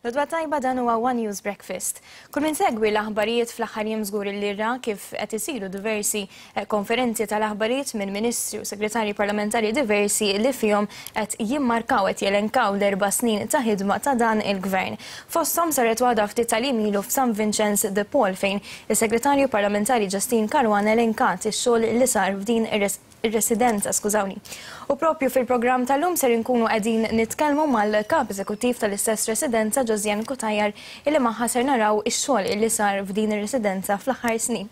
L-għodwa t-tajba dan huwa One News Breakfast. Kull min segwi l-aħbarijiet fl-aħħar jiem żgur li ra kif qed isiru diversi eh, konferenzi tal-aħbarijiet minn ministri u segretarji parlamentari diversi li fihom qed jimmarkaw qed jelenkaw l-erba' snin ta' ħidma ta' dan il-gvern. Fosthom saret waħda ftit tal-jiem ilu f'San Vincenz de Paul fejn is-segretarju parlamentari Justyne Caruana elenkat ix-xogħol li sar f'din ir-residenza, skużawni. U propju fil-programm tal-lum ser inkunu qegħdin nitkellmu mal-kap eżekuttiv tal-istess residenza Josianne Cutajar illi magħha ser naraw ix-xogħol illi sar f'din ir-residenza fl-aħħar snin.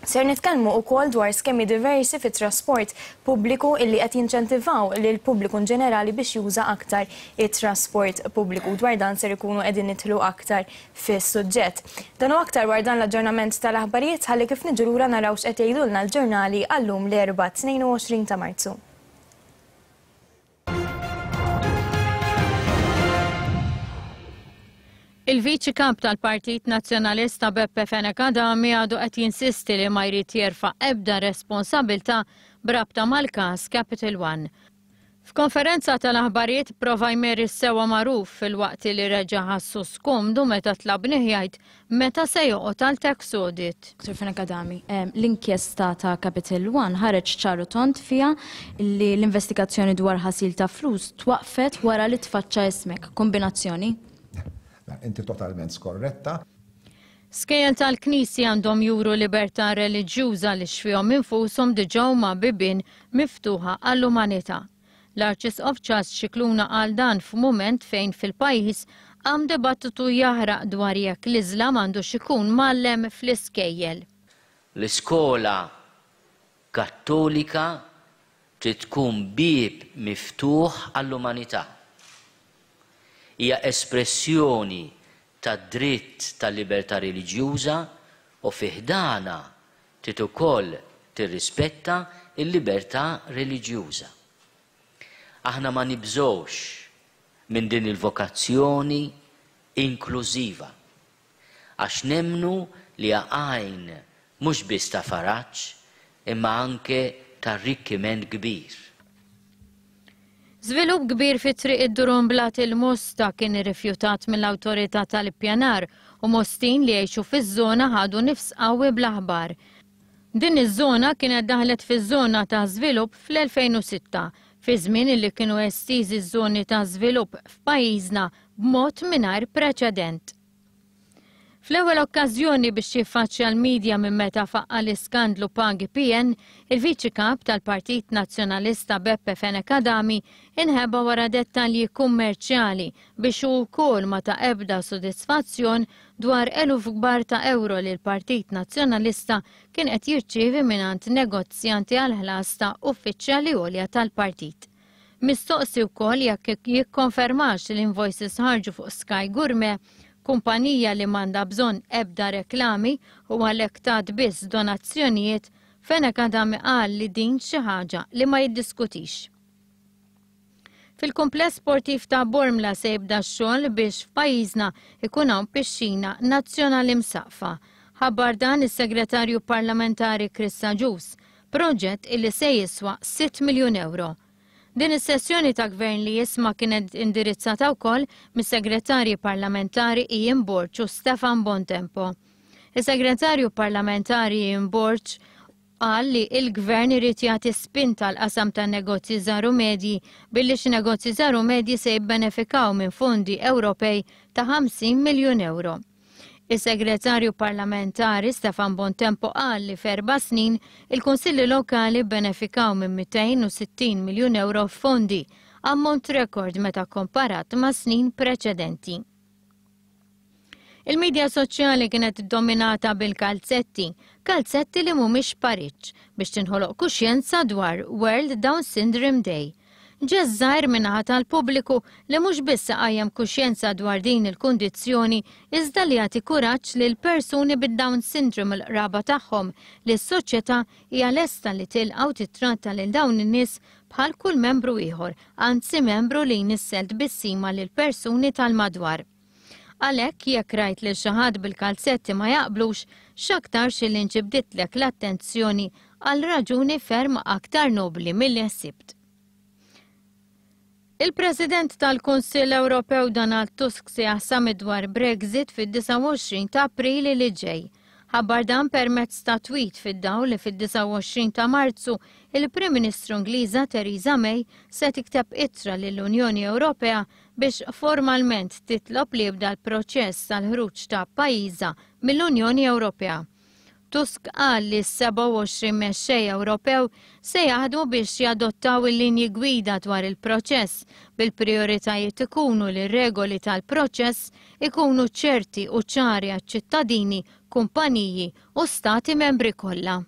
Ser nitkellmu wkoll dwar skemi diversi fit-trasport pubbliku illi qed jinċentivaw lill-pubbliku inġenerali biex juża aktar it-trasport pubbliku. Dwar dan ser ikunu qegħdin nidħlu aktar fis-suġġett. Dan u aktar wara dan l-aġġornament tal-aħbarijiet ħalli kif niġu lura naraw x'qed jgħidulna l-ġurnali għal-lum l-Erbgħa 22 ta' Marzu. Il-Viċi Kap tal-Partit Nazzjonalista Beppe Fenech Adami għadu qed jinsisti li ma jrid jerfa' ebda responsabilità b'rabta mal-każ Capital One. F'konferenza tal-aħbarijiet prova jmeri s-sewwa magħruf filwaqt li reġa' ħassu skomdu meta tlabnih jgħid meta se joqgħod għal tax audit. Dottor Fenech Adami, l-inkjesta ta' Capital One ħareġ ċar u tond fiha li l-investigazzjoni dwar ħasil ta' flus twaqqfet wara li tfaċċa ismek. Kombinazzjoni? Inti totalment skorretta. Skejjel tal-Knisja għandhom juru libertà reliġjuża għaliex fihom infushom diġà huma bibien miftuħa għall-umanità. L-Arċisqof Charles Scicluna qal dan f'mument fejn fil-pajjiż qam dibattitu jaħraq dwar jekk l-Iżlam għandux ikun mgħallem fl-iskejjel. L-iskola Kattolika trid tkun bieb miftuħ għall-umanità. Hija espressjoni tad-dritt tal-libertà reliġjuża u fi ħdanha trid ukoll tirrispetta l-libertà reliġjuża. Aħna ma nibżgħux minn din il-vokazzjoni inklużiva, għax nemmnu li hija għajn mhux biss ta' faraġ imma anke ta' arrikkiment kbir. Żvilupp kbir fi Triq id-Durumblat il-Mosta kien irrifjutat mill-Awtorità tal-Ippjanar u Mostin li jgħixu fiż-żona ħadu nifs qawwi bl-aħbar. Din iż-żona kienet daħlet fiż-żona ta' żvilupp fl-2006, fi żmien li kienu estiżi ż-żoni ta' żvilupp f'pajjiżna b'mod mingħajr preċedent. Fl-ewwel okkażjoni biex jiffaċċja l-media minn meta faqqa' l-iskandlu Pagi PN, il-Viċi Kap tal-Partit Nazzjonalista Beppe Fenech Adami inħeba wara dettalji kummerċjali biex hu wkoll ma ta ebda sodisfazzjon dwar eluf kbar ta' ewro li l-Partit Nazzjonalista kien qed jirċievi mingħand negozjanti għall-ħlas ta' uffiċjali għolja tal-partit. Mistoqsi wkoll jekk jikkonfermax li l-invoices ħarġu fuq Sky Gourmet, kumpanija li m'għandha bżonn ebda reklami u għalhekk tat biss donazzjonijiet, Fenech Adami qal li din xi ħaġa li ma jiddiskutix. Fil-kumpless sportiv ta' Bormla se jibda x-xogħol biex f'pajjiżna ikun hawn pixxina nazzjonali msaqqfa. Ħabbar dan is-Segretarju Parlamentari Chris Agius proġett illi se jiswa sitt miljun ewro. Din is-sessjoni ta' Gvern li Jisma' kienet indirizzata wkoll mis-Segretarji Parlamentari Ian Borg u Stefan Bontempo. Is-Segretarju Parlamentari Ian Borg qal li il-Gvern irid jagħti spinta għall-qasam tan-negozji żgħar u medji billi xi negozji żgħar u medji se jibbenefikaw minn fondi Ewropej ta' 50 miljun ewro. Is-Segretarju Parlamentari Stefan Bontempo qal li f'erba' snin il-Kunsilli Lokali bbenefikaw minn 260 miljun ewro f'fondi, ammont rekord meta kkomparat ma' snin preċedenti. Il-midja soċjali kienet dominata bil-kalzetti, kalzetti li mhumiex pariġġ, biex tinħoloq kuxjenza dwar World Down Syndrome Day. Ġest żgħir min-naħa tal-pubbliku li mhux biss iqajjem kuxjenza dwar din il-kundizzjoni iżda li jagħti kuraġġ lil persuni bid-Down Syndrome u l-qraba tagħhom li s-soċjetà hija lesta li tilqa' u tittratta lil dawn in-nies bħal kull membru ieħor, anzi membru li jnissel tbissima lil persuni tal-madwar. Għalhekk jekk rajt lil xi ħadd bil-kalzetti ma jaqblux, x'aktarx illi nġibditlek l-attenzjoni għal raġuni ferm aktar nobbli milli ħsibt. Il-President tal-Kunsill Ewropew Donald Tusk se summit dwar Brexit fid-29 ta' April li ġej. Ħabbar dan permezz ta' tweet fid-dawl li fid-29 ta' Marzu il-Prim Ministru Ingliża Theresa May se tikteb ittra lill-Unjoni Ewropea biex formalment titlob li jibda l-proċess tal-ħruġ ta' pajjiżha mill-Unjoni Ewropea. Tusk qal li s-27 mexxej Ewropew se jaħdmu biex jadottaw il-linji gwida dwar il-proċess bil-prioritajiet ikunu li regoli tal-proċess ikunu ċerti u ċari għaċ-ċittadini, kumpaniji u stati membri kollha.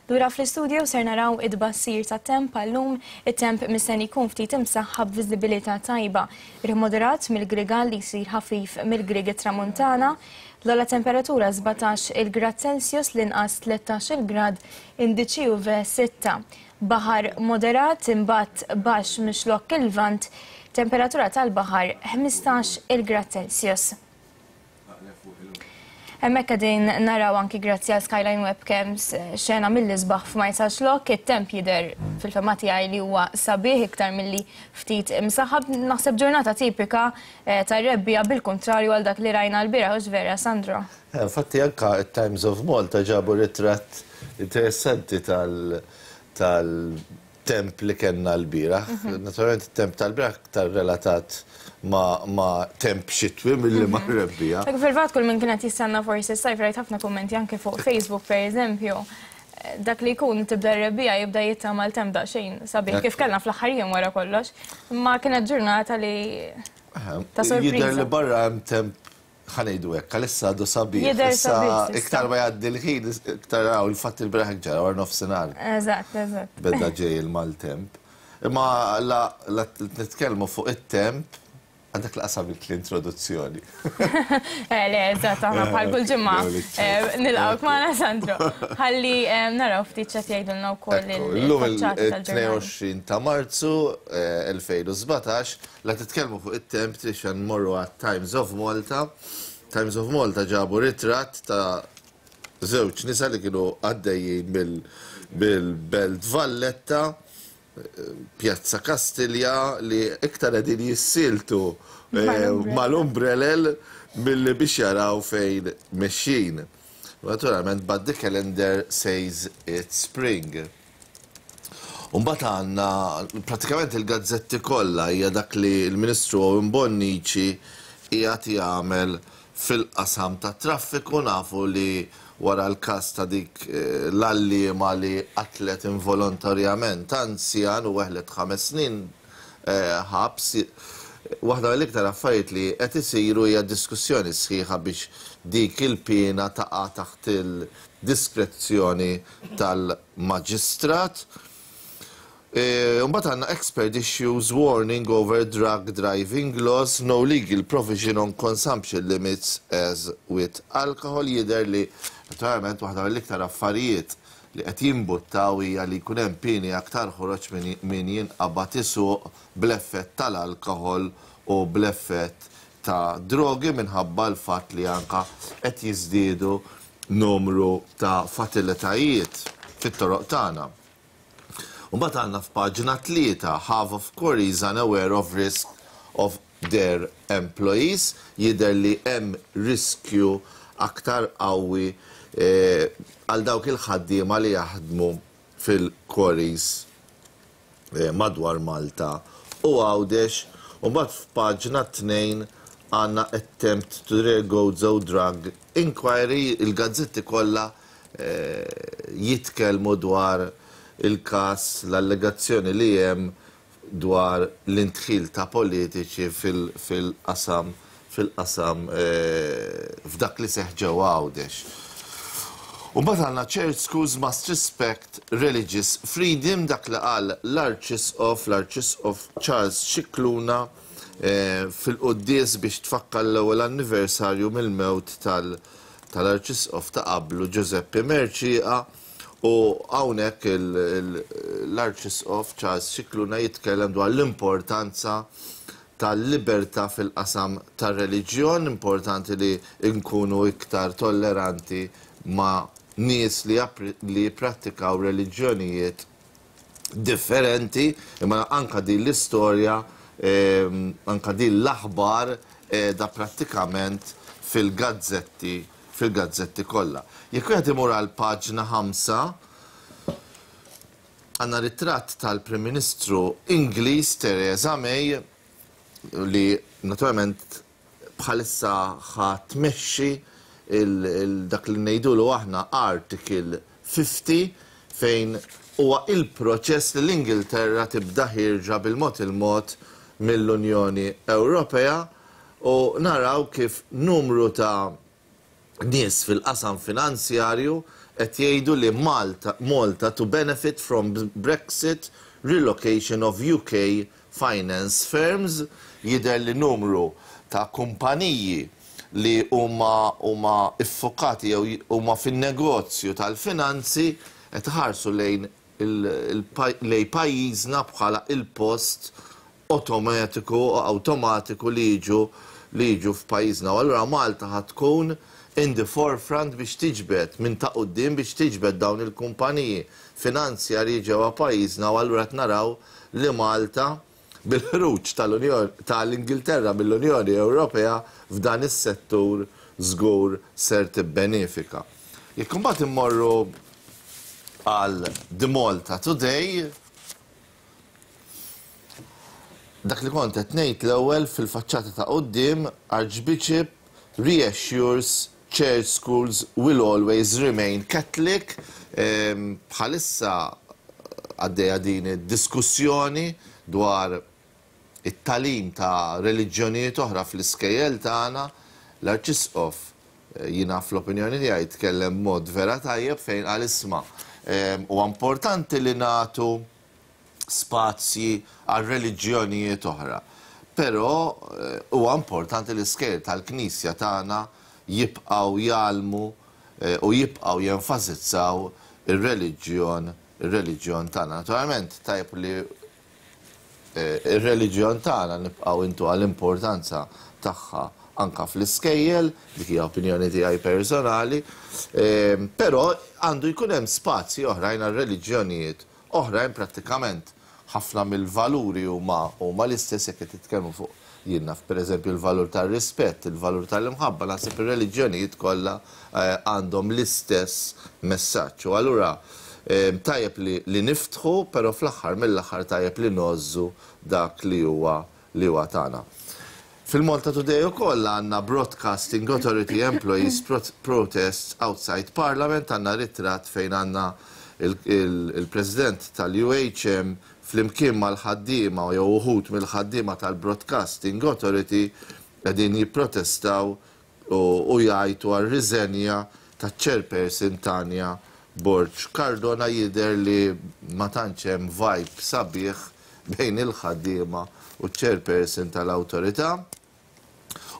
Lura fl-istudio ser naraw it-tbassir tat-temp għallum, it-temp mistenni jkun ftit imsaħħab b'viżibilità tajba. Riħ moderat mill-Grigal li jsir ħafif mill-Grieg tramuntana, l-ogħla temperatura 17 il-grad Celsius l-inqas 13 il-grad indiċi UV 6. Baħar moderat imbagħad baxx mix-Xlokk il-Lvant, temperatura tal-baħar 15 il-grad Celsius. Hemmhekk qegħdin naraw anki grazzi għal Skyline Webcams xena mill-isbaħ f'Marsaxlokk, it-temp jidher fil-fehma tiegħi li huwa sabiħ iktar milli ftit imsaħħab. Naħseb ġurnata tipika tar-rebbiegħa bil-kuntrarju għal dak li rajna lbieraħ, hux vera Sandro? Infatti anka t-Times of Malta ġabu ritratt interessanti tal tal temp li kellna lbieraħ. Naturalment it-temp tal-bieraħ aktar relatat ma', ma temp xitwi milli ma' rebbiegħa. Fil-fatt kull min kienet jistenna forsi s-sajf rajt ħafna kummenti anke fuq Facebook per eżempju. Dak li jkun tibda r-rebbiegħa jibda jittama l-temp daqsxejn sabiħ kif kellna fl-aħħar jiem wara kollox. Ma kienet ġurnata li ta' sorpriża. Jidher li barra hemm temp ħa ngħidu hekk, għalissa għadu sabiħ. Jidher sabiħ s'issa. Iktar ma jgħaddi l-ħin, iktar hawn il-fatt il-bieraħ hekk ġara wara nofsinhar. Eżatt, eżatt. Beda ġej il-maltemp. Imma la nitkellmu fuq it-temp, għandek laqas għamilt l-introduzzjoni. Eh, le, eżatt, aħna bħal kull ġimgħa nilqgħuk magħna Sandro. Ħalli naraw ftit x'qed jgħidulna wkoll Illum il-22 ta' Marzu 2017 La titkellmu fuq it-temp trid nmorru għat-Times of Malta. Times of Malta ġabu ritratt ta' żewġ nisa li kienu għaddejjin mill-Belt Valletta, Pjazza Kastilja li iktar qegħdin jissieltu mal-umbrelel milli biex jaraw fejn mexjin. Naturalment, but the calendar says it's spring. U mbagħad għandna pratikament il-gazzetti kollha hija dak li l-Ministru Owen Bonnici qiegħed jagħmel fil-qasam tat-traffiku. Nafu li wara l-każ ta' dik l-għalliema li qatlet involontarjament anzjan u weħlet ħames snin ħabs, waħda mill-iktar affarijiet li qed isiru hija diskussjoni sħiħa biex dik il-piena taqa' taħt il-diskrezzjoni tal-maġistrat. Imbagħad għandna expert issues warning over drug driving laws, no legal provision on consumption limits as with alcohol. Jidher li naturalment waħda mill-iktar affarijiet li qed jimbuttaw hija li jkun hemm pieni aktar ħoroġ min jinqabad isuq bl-effett tal-alkohol u bl-effett ta' drogi minħabba l-fatt li anka qed jiżdiedu numru ta' fatalitajiet fit-toroq tagħna. U mbagħad għandna f'paġna 3 half of quarries unaware of risk of their employees, jidher li hemm riskju aktar qawwi għal dawk il-ħaddiema li jaħdmu fil-quarries madwar Malta u Għawdex. U mbagħad f'paġna 2 għandna attempt to Gozo drug inquiry, il-gazzetti kollha jitkellmu dwar il-każ, l-allegazzjoni li hemm dwar l-indħil ta' politiċi fil-qasam fil-qasam f'dak li seħħ ġewwa Għawdex. U mbagħad għandna church schools must respect religious freedom, dak li qal l-Arċisqof, l-Arċisqof Charles Scicluna fil-quddies biex tfakkar l-ewwel anniversarju mill-mewt tal-Arċisqof ta' qablu Giuseppe Mercieca. U hawnhekk l-Arċisqof Charles Scicluna jitkellem dwar l-importanza tal-libertà fil-qasam tar-reliġjon, importanti li nkunu iktar tolleranti ma' nies li jipprattikaw reliġjonijiet differenti, imma anka din l-istorja, anka din l-aħbar qiegħda prattikament fil-gazzetti fil-gazzetti kollha. Jekk wieħed imur għal paġna 5, għandna ritratt tal-Prim Ministru Ingliż Theresa May li naturalment bħalissa ħa tmexxi dak li ngħidulu aħna Article 50, fejn huwa il-proċess li l-Ingilterra tibda ħierġa bil-mod il-mod mill-Unjoni Ewropea, u naraw kif numru ta' nies fil-qasam finanzjarju qed jgħidu li Malta, Malta to benefit from Brexit relocation of UK finance firms. Jidher li numru ta' kumpaniji li huma iffokati jew huma fin-negozju tal-finanzi qed iħarsu lejn pajjiżna bħala il-post automatiku awtomatiku li jiġu f'pajjiżna. U allura Malta ħa tkun in the forefront biex tiġbed minn ta' quddiem biex tiġbed dawn il-kumpaniji finanzjarji ġewwa pajjiżna, u allura qed naraw li Malta bil-ħruġ tal-Unjoni tal-Ingilterra mill-Unjoni Ewropea f'dan is-settur żgur ser tibbenefika. Jekk imbagħad immorru għal The Malta Today, dak li kont qed ngħid l-ewwel, fil-faċċata ta' quddiem, Archbishop reassures church schools will always remain Catholic. Bħalissa għaddejja din id-diskussjoni dwar it-tagħlim ta' reliġjonijiet oħra fl-iskejjel tagħna. L-Arċisqof, jiena fl-opinjoni tiegħi, tkellem mod vera tajjeb fejn qal, isma', huwa importanti li nagħtu spazji għal reliġjonijiet oħra. Però huwa importanti li l-iskejjel tal-Knisja tagħna jibqgħu jgħallmu u jibqgħu jenfasizzaw ir-reliġjon tagħna. Naturalment tajjeb li ir-reliġjon tagħna nibqgħu intu għall-importanza tagħha anka fl-iskejjel, dik hija opinjoni tiegħi personali, però għandu jkun hemm spazji oħrajn għal reliġjonijiet oħrajn. Prattikament ħafna mill-valuri huma l-istess jekk qed titkellmu fuq, jien naf, pereżempju l-valur tar-rispett, il-valur tal-imħabba, naħseb ir-reliġjonijiet kollha għandhom l-istess messaġġ. U allura tajjeb li niftħu, però fl-aħħar mill-aħħar tajjeb li ngħożżu dak li huwa tagħna. Fil-Malta Today ukoll għandna Broadcasting Authority Employees Protests outside Parliament, għandna ritratt fejn għandna il-President tal-UHM flimkien mal-ħaddiema jew uħud mill-ħaddiema tal-Broadcasting Authority qegħdin jipprotestaw u jgħajtu għal riżenja ta' chairperson Tanja Borg Cardona. Jidher li ma tantx hemm vibe sabiħ bejn il-ħaddiema u chairperson tal-awtorità.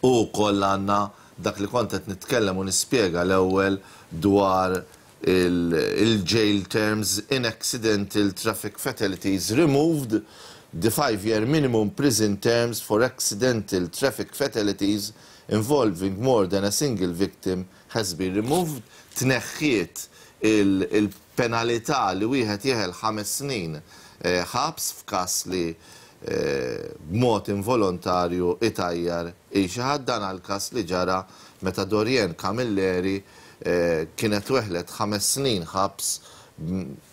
U wkoll għandna dak li kont qed nitkellem u nispjega l-ewwel dwar il-jail terms in accidental traffic fatalities removed. The 5-year minimum prison terms for accidental traffic fatalities involving more than a single victim has been removed. Tneħħiet il-penalità li wieħed jeħel 5 snin ħabs f'każ li b'mod involontarju itajjar xi ħadd. Dan għal każ li ġara meta Dorian Camilleri kienet weħlet 5 snin ħabs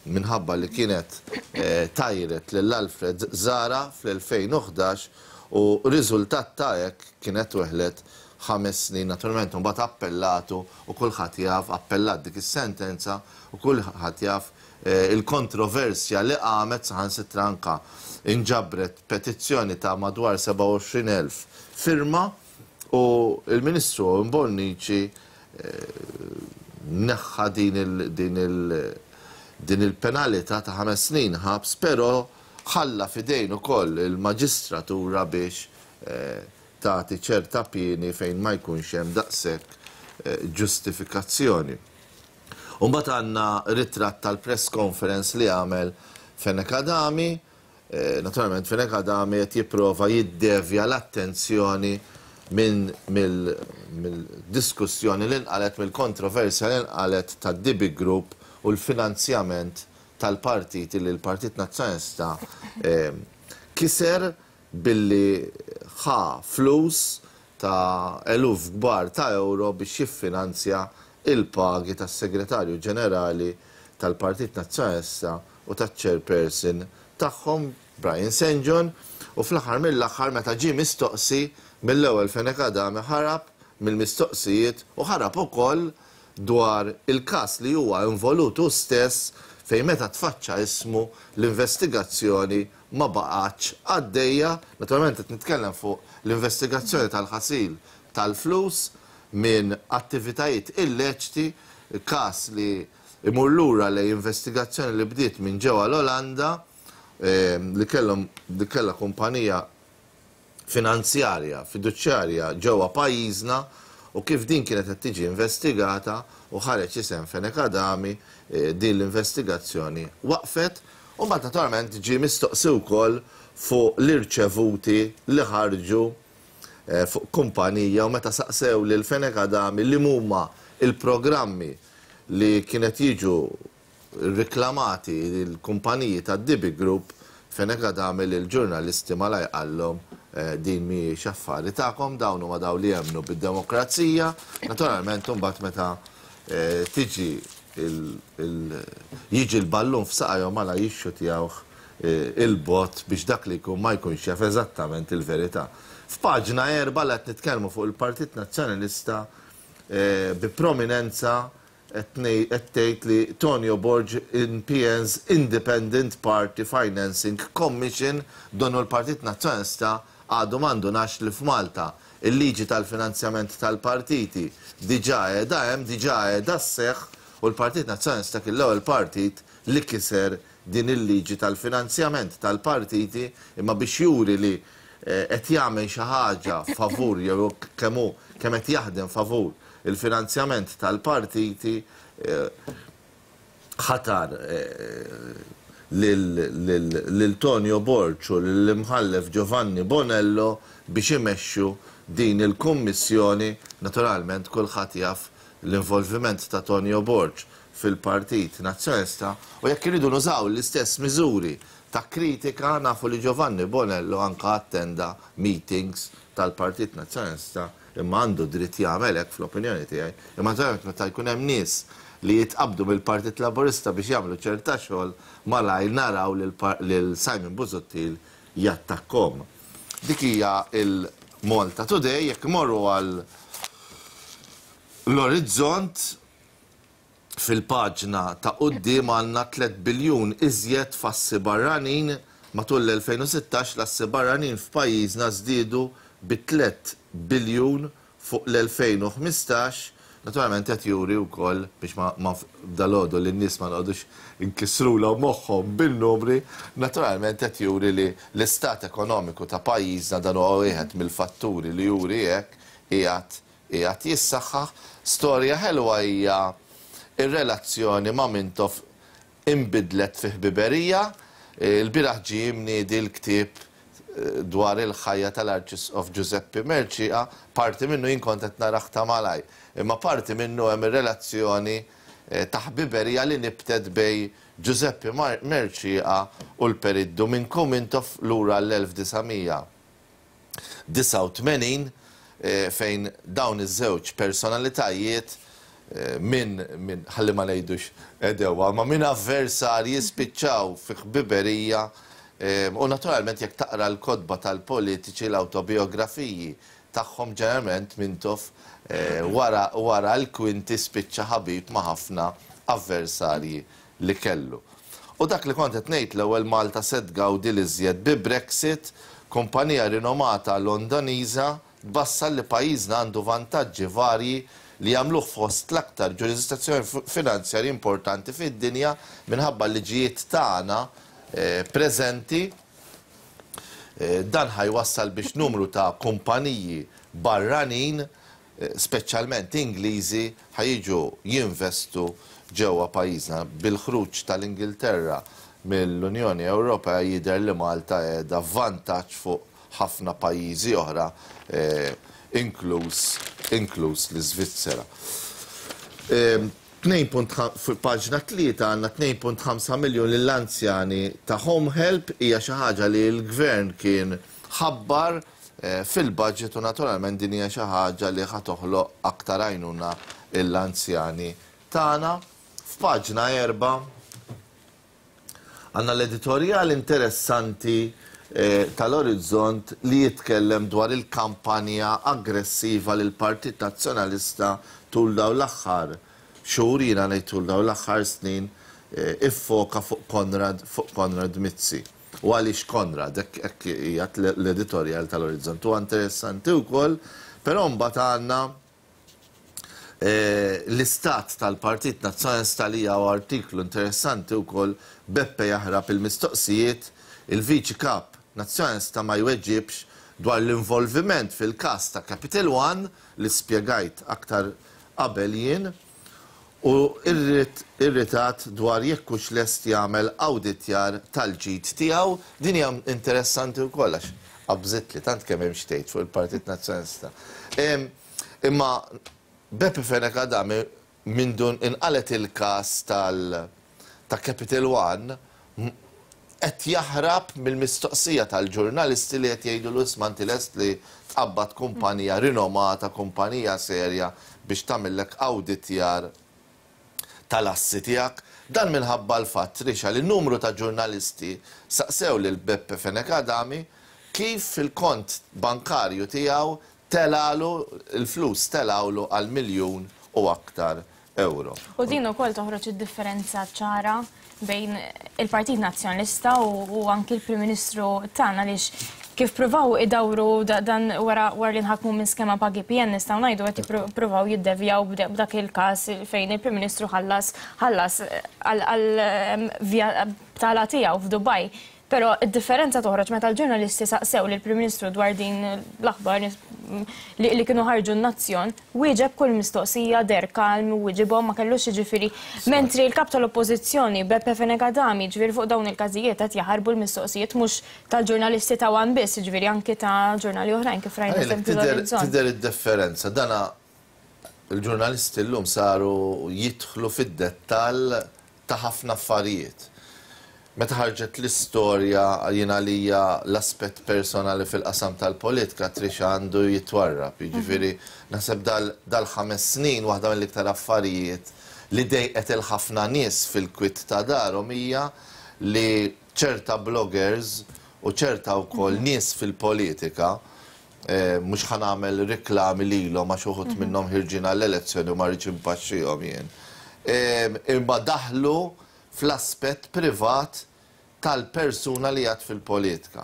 minħabba li kienet tajret lil Alfred Zara fl-2011 u riżultat ta' hekk kienet weħlet 5 snin. Naturalment mbagħad appellatu u kulħadd jaf, appellat dik is-sentenza u kulħadd jaf il-kontroversja li qamet, saħansitra anka inġabret petizzjoni ta' madwar 27,000 firma u il-Ministru Owen Bonnici neħħa din il-penalità ta' 5 snin ħabs, però ħalla f'idejn ukoll il-maġistratura biex tagħti ċerta pieni fejn ma jkunx hemm daqshekk ġustifikazzjoni. U mbagħad għandna ritratt tal-press conference li għamel Fenech Adami. Naturalment Fenech Adami qed jipprova jiddevja l-attenzjoni minn mill-diskussjoni li nqalet, mill-kontroversja li nqalet tad-DB Group u l-finanzjament. tal-partit li l-Partit Nazzjonalista kiser billi ħa flus ta' eluf kbar ta' ewro biex jiffinanzja il-pagi tas-Segretarju Ġenerali tal-Partit Nazzjonalista u taċ-Chairperson tagħhom Brian St John u fl-aħħar mill-aħħar meta ġie mistoqsi mill-ewwel Fenech Adami ħarab mill-mistoqsijiet u ħarab ukoll dwar il-każ li huwa involut hu stess fejn meta tfaċċa ismu l-investigazzjoni ma baqgħetx għaddejja. Naturalment qed nitkellem fuq l-investigazzjoni tal-ħasil tal-flus minn attivitajiet illeċti, każ li imur lura lejn investigazzjoni li bdiet minn ġewwa l-Olanda li kellhom li kellha kumpanija finanzjarja, fiduċjarja ġewwa pajjiżna u kif din kienet qed tiġi investigata u ħareġ isem Fenech Adami, din l-investigazzjoni waqfet u mbagħad naturalment ġie mistoqsi wkoll fuq l-irċevuti li ħarġu fuq kumpanija u meta saqsew lil Fenech Adami li huma l-programmi li kienet jiġu riklamati l-kumpaniji tad-DB Group, Fenech Adami lill-ġurnalisti malajr qallhom din mhijiex affari tagħkom, dawn huma dawn li jemmnu bid-demokrazija. Naturalment imbagħad meta tiġi jiġi l-ballun f'saqajhom malajr jixxutjawh il-bogħod biex dak li jkun ma jkunx jaf eżattament il-verità. F'paġna 4 la qed nitkellmu fuq il-Partit Nazzjonalista bi prominenza qed tgħid li Tonio Borg in PN's Independent Party Financing Commission donnu l-Partit Nazzjonalista għadu ma ndunax li f'Malta il-liġi tal-finanzjament tal-partiti diġà qiegħda hemm, diġà qiegħda sseħħ u l-Partit Nazzjonalista kien l-ewwel partit li kiser din il-liġi tal-finanzjament tal-partiti imma biex juri li qed jagħmel xi ħaġa favur jew kemm hu kemm qed jaħdem favur il-finanzjament tal-partiti ħatar lil Tonio Borg u lill-Imħallef Giovanni Bonello biex imexxu din il-kummissjoni. Naturalment kulħadd jaf l-involviment ta' Tonio Borg fil-Partit Nazzjonalista u jekk iridu nużaw l-istess miżuri ta' kritika nafu li Giovanni Bonello anka attenda meetings tal-Partit Nazzjonalista imma għandu dritt jagħmel hekk fl-opinjoni tiegħi. Imma naturalment meta jkun hemm nies li jitqabdu mill-Partit Laburista biex jagħmlu ċerta xogħol malajr naraw lil Simon Busuttil jattakkhom. Dik hija il-Malta Today, jekk imorru għal l-Orizzont fil-paġna ta' quddiem għandna 3 biljun iżjed f'assi barranin. Matul l-2016 l-assi barranin f'pajjiżna żdiedu bi 3 biljun fuq l-2015. Naturalment qed juri wkoll biex ma, ma dalgħodu li n-nies ma noqogħdux inkissrulhom moħħhom bin-numri, naturalment qed juri li l-istat ekonomiku ta' pajjiżna dan huwa wieħed mill-fatturi li juri hekk qiegħed jissaħħaħ. Storja ħelwa hija ir-relazzjoni ma' Mintoff inbidlet fi ħbiberija. Il-bieraħ ġie mniedi l-ktieb dwar il-ħajja tal-Arċisqof Giuseppe Mercieca, parti minnu jien kont qed narah ta' malaj, imma parti minnu hemm ir-relazzjoni ta' ħbiberija li nibtet bejn Giuseppe Mercieca u l-Perit Duminku Mintoff lura l-1989 fejn dawn iż-żewġ personalitajiet minn min ħalli ma ngħidux għedewwa, ma minn avversarji spiċċaw fi ħbiberija u naturalment jekk taqra l-kotba tal-politiċi l-awtobiografiji tagħhom ġeneralment Mintoff wara wara l-kwinti spiċċa ħabib ma' ħafna avversarji li kellu. U dak li kont qed ngħid l-ewwel Malta se tgawdi l-iżjed bi Brexit, kumpanija rinomata Londoniża tbassar li pajjiżna għandu vantaġġi varji li jagħmluh fost l-aktar ġurisdizzjoni finanzjarji importanti fid-dinja minħabba l-liġijiet tagħna preżenti. Dan ħa jwassal biex numru ta' kumpaniji barranin, speċjalment Ingliżi, ħa jiġu jinvestu ġewwa pajjiżna. Bil-ħruġ tal-Ingilterra mill-Unjoni Ewropea jidher li Malta qiegħda f'vantaġġ fuq ħafna pajjiżi oħra, inkluż inkluż l-Iżvizzera. F'paġna 3 għandna 2.5 miljun lill-anzjani ta' Home Help, hija xi ħaġa li l-Gvern kien ħabbar fil-budget u naturalment din hija xi ħaġa li ħa toħloq aktar għajnuna lill-anzjani tagħna. F'paġna 4 għandna l-editorjal interessanti tal-Orizzont li jitkellem dwar il-kampanja aggressiva li l-Partit Nazzjonalista tul dawn l-aħħar xhur, jiena ngħid tul dawn l-aħħar snin, iffoka fuq Konrad fuq Konrad Mizzi. U għaliex Konrad, hekk qiegħed l-editorjal tal-Orizzont. Huwa interessanti wkoll, però mbagħad għandna L-istat tal-Partit Nazzjonalista li huwa artiklu interessanti wkoll Beppe jaħrab il-mistoqsijiet, il-Viċi Kap Nazzjonalista ma jweġibx dwar l-involviment fil-każ ta' Capital One li spjegajt aktar qabel jien u irritat dwar jekk hux lest jagħmel awditjar tal-ġid tiegħu. Din hija interessanti wkoll għax qabżitli tant kemm hemm x'tgħid fuq il-Partit Nazzjonalista. Imma Beppe Fenech Adami mindu inqalgħet il-każ tal ta' Capital One qed jaħrab mill-mistoqsija tal-ġurnalisti li qed jgħidulu isma' inti lest li tqabbad kumpanija rinomata, kumpanija serja biex tagħmillek awditjar tal-assi tiegħek. Dan minħabba l-fatt, Tricia, li numru ta' ġurnalisti saqsew lil Beppe Fenech Adami kif il-kont bankarju tiegħu telgħalu, il-flus telgħulu għal miljun u aktar ewro. U din ukoll toħroġ id-differenza ċara bejn il-Partit Nazzjonalista u anki l-Prim Ministru tagħna għaliex kif pruvaw idawru dan wara wara li nħakmu minn skema pagi PN nistgħu ngħidu qed jippruvaw jiddevjaw b'dak il-każ fejn il-Prim Ministru ħallas ħallas għal btala tiegħu f'Dubaj. Però d-differenza toħroġ meta l-ġurnalisti saqsew lill-Prim Ministru dwar din l-aħbar li kienu ħarġu n-Nazzjon, wieġeb kull mistoqsija, deher kalm, wieġibhom ma kellux jiġifieri. Mentri l-Kap tal-Oppożizzjoni, Beppe Fenech Adami, jiġifieri fuq dawn il-każijiet qed jaħarbu l-mistoqsijiet mhux tal-ġurnalisti ta' one biss, jiġifieri anki ta' ġurnali oħrajn kif rajna eżempju l-Orizzont. Tidher id-differenza. Dana il-ġurnalisti llum saru jidħlu fid-dettall ta' ħafna affarijiet. Meta ħarġet l-istorja, jien għalija l-aspett personali fil-qasam tal-politika Tricia għandu jitwarrab. Jiġifieri naħseb dal-ħames snin waħda mill-iktar affarijiet li dejqet il-ħafna nies fil-kwiet ta' darhom hija li ċerta bloggers u ċerta wkoll nies fil-politika, mhux ħa nagħmel riklami lilhom għax uħud minnhom ħirġin għall-elezzjoni u ma rridx inpaxxihom jien, imma daħlu fl-aspett privat tal-persuna li qiegħed fil-politika.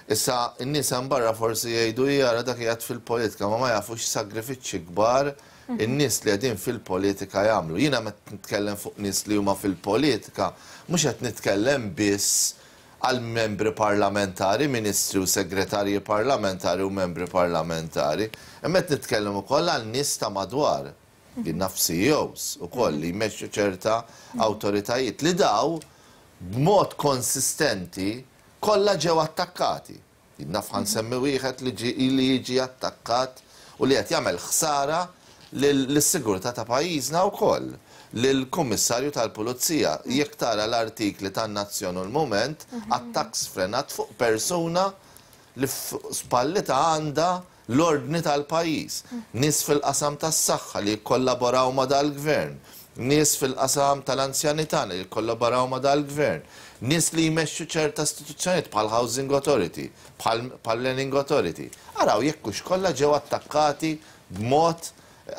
Issa, in-nies hemm barra forsi jgħidu hi ara dak qiegħed fil-politika, ma ma jafux x'sagrifiċċji kbar in-nies li qegħdin fil-politika jagħmlu. Jiena meta nitkellem fuq nies li huma fil-politika, mhux qed nitkellem biss għal membri parlamentari, ministri u segretarji parlamentari u membri parlamentari, imma qed nitkellem ukoll għal nies ta' madwar. Jien naf CEOs ukoll li jmexxu ċerta awtoritajiet li daw b'mod konsistenti kollha ġew attakkati. Jien naf ħa nsemmi wieħed li ġie li jiġi attakkat u li qed jagħmel ħsara lis-sigurtà ta' pajjiżna wkoll, lill-Kummissarju tal-Pulizija. Jekk tara l-artikli tan-Nazzjon u l-Mument, attakk sfrenat fuq persuna li fuq spallitha għandha l-ordni tal-pajjiż, nies fil-qasam tas-saħħa li jikkollaboraw ma' dal-Gvern, nies fil-qasam tal-anzjani tagħna li jikkollaboraw ma' dal-Gvern, nies li jmexxu ċerta istituzzjonijiet bħal Housing Authority, bħal Planning Authority. Araw jekk hux kollha ġew attakkati b'mod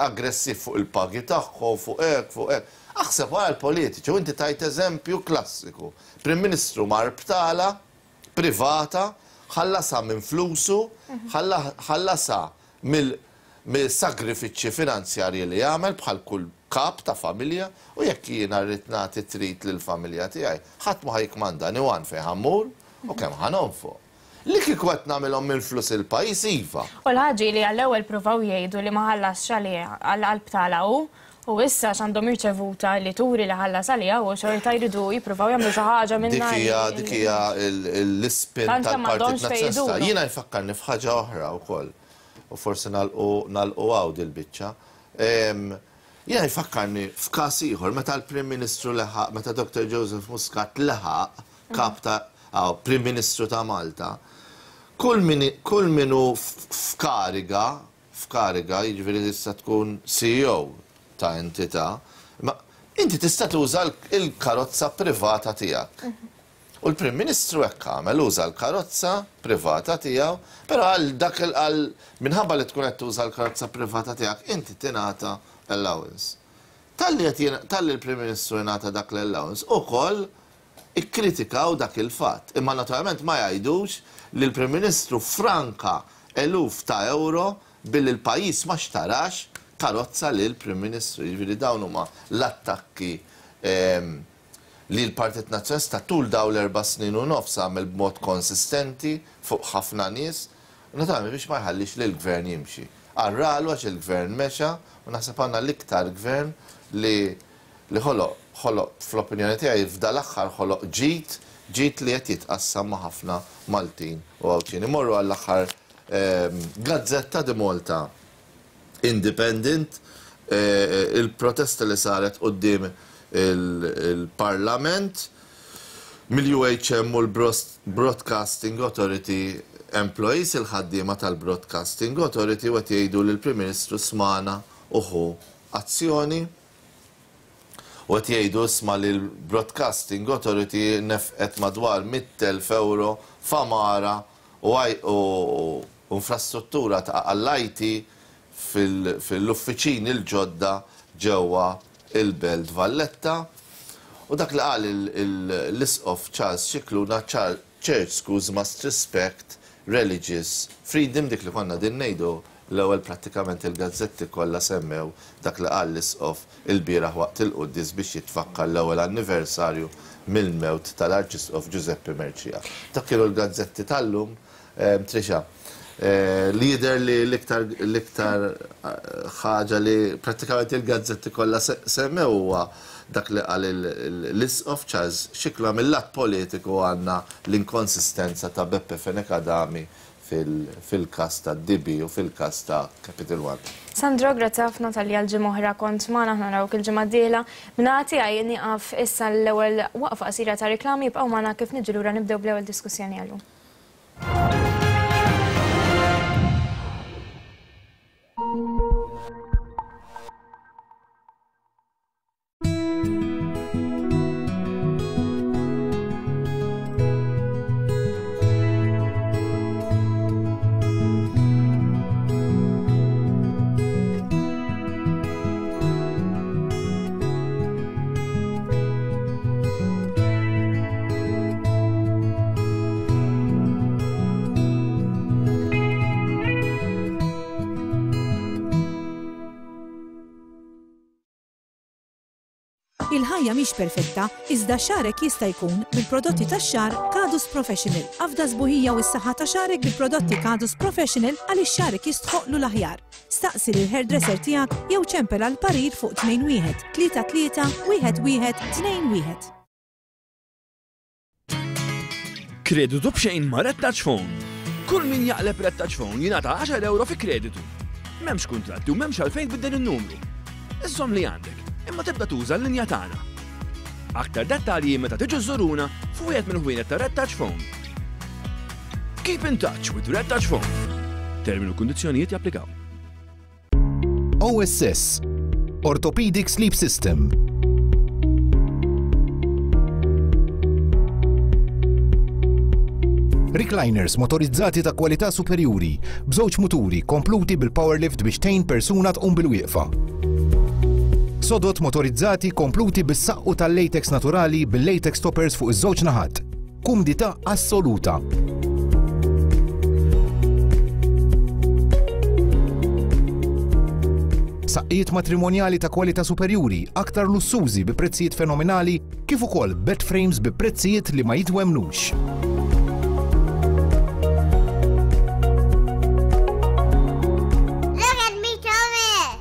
aggressiv fuq il-pagi tagħhom, fuq hekk, fuq hekk. Aħseb wara l-politiċi u inti tajt eżempju klassiku. Prim Ministru mar btala privata, ħallasha minn flusu, ħallasha mill-sagrifiċċji finanzjarji li jagħmel bħal kull kap ta' familja u jekk jiena rrid nagħti treat lill-familja tiegħi, ħadd ma ħa jikkmandani one fejn ħa mmur u kemm ħa nonfoq. Li kieku qed nagħmilhom minn flus il-pajjiż iva. U l-ħaġa hi li għall-ewwel pruvaw jgħidu li ma ħallasx għaliha għall-btala hu U issa għax għandhom irċevuta li turi li ħallas għaliha u xorta jridu jippruvaw jagħmlu xi ħaġa minnha. Dik hija dik hija l-ispin tal-Partit Nazzjonalista. Jiena jfakkarni f'ħaġa oħra wkoll u forsi nagħlqu nagħlqu hawn dil-biċċa. Jiena jfakkarni f'każ ieħor meta l-Prim Ministru leħaq, meta Dr. Joseph Muscat leħaq kap ta' Prim Ministru ta' Malta, kull min kull min hu f'kariga, f'kariga, jiġifieri tista' tkun CEO ta' entità, imma inti tista' tuża l-karozza privata tiegħek. U l-Prim Ministru hekk għamel, uża l-karozza privata tiegħu, però għal dak għal minħabba li tkun qed tuża l-karozza privata tiegħek inti tingħata allowance. Talli qed talli l-Prim Ministru jingħata dak l-allowance ukoll ikkritikaw dak il-fatt. Imma naturalment ma jgħidux li l-Prim Ministru ffranka eluf ta' ewro billi l-pajjiż ma xtarax karozza lill-Prim Ministru. Jiġifieri dawn huma l-attakki li l-Partit Nazzjonalista tul dawn l-erba' snin u nofs għamel b'mod konsistenti fuq ħafna nies, naturalment biex ma jħallix lill-Gvern jimxi. Għarralu għax il-Gvern mexa u naħseb għandna l-iktar Gvern li li ħoloq, ħoloq fl-opinjoni tiegħi f'dal-aħħar ħoloq ġid, ġid li qed jitqassam ma' ħafna Maltin u Għawdxin. Immorru għall-aħħar gazzetta The Malta Independent, il-protesta li saret quddiem il-Parlament mill-UHM u l-Broadcasting Authority employees, il-ħaddiema tal-Broadcasting Authority u qed jgħidu li l-Prim Ministru smana u ħu azzjoni. U qed jgħidu isma' li l-Broadcasting Authority nefqet madwar 100,000 ewro f'għamara u infrastruttura ta' għall-IT fil-uffiċini l-ġodda ġewwa l-Belt Valletta. U dak li qal l-Isqof Charles Scicluna, Church schools must respect religious freedom, dik li konna qegħdin ngħidu l-ewwel prattikament il-gazzetti kollha semmew dak li qal l-Isqof ilbieraħ waqt il-quddies biex jitfakkar l-ewwel anniversarju mill-mewt tal-Arċisqof Ġużeppi Mercieca. Dak kienu l-gazzetti tal-lum, Tricia. Li jidher li l-iktar l-iktar ħaġa li prattikament il-gazzetti kollha semmew huwa dak li qal l-Isqof Charles Scicluna mill-lat politiku għandna l-inkonsistenza ta' Beppe Fenech Adami fil-każ ta' DB u fil-każ ta' Capital One. Sandro, grazzi ħafna talli għal ġimgħa oħra kont magħna, aħna narawk il-ġimgħa d-dieħla. Min-naħa tiegħi nieqaf issa l-ewwel waqfa qasira ta' riklami, ibqgħu magħna kif niġu lura nibdew bl-ewwel diskussjoni għal-lum. Il-ħajja mhix perfetta, iżda xagħrek jista' jkun bil-prodotti tax-xagħar Kadus Professional. Afda s-sbuħija u s-saħħa ta' xagħrek bil-prodotti Kadus Professional għaliex xagħrek jistħoqqlu l-aħjar. Staqsi lill-hairdresser tiegħek jew ċempel għal parir fuq 21 33 1 1 2 1. Kreditu b'xejn ma' Red Touch Phone. Kull min jaqleb Red Touch Phone jingħata 10 euro fi kreditu. M'hemmx kuntratti u m'hemmx għalfejn tbiddel in-numru. Iżżomm li għandek, imma tibda tuża l-linja tagħna. Aktar dettalji meta tiġu żżuruna f'wieħed mill-ħwienet ta' Red Touch Phone. Keep in touch with Red Touch Phone. Termini u kundizzjonijiet japplikaw. OSS, Orthopedic Sleep System. Recliners motorizzati ta' kwalità superjuri, b'żewġ muturi kompluti bil-power lift biex tgħin persuna tqum bil-wieqfa. Sodod motorizzati kompluti bis-saqqu tal-latex naturali bil-latex toppers fuq iż-żewġ naħat. Kumdità assoluta. Saqqijiet matrimonjali ta' kwalità superjuri, aktar lussużi bi prezzijiet fenomenali, kif ukoll bed frames bi prezzijiet li ma jitwemmnux. Look at me, Thomas!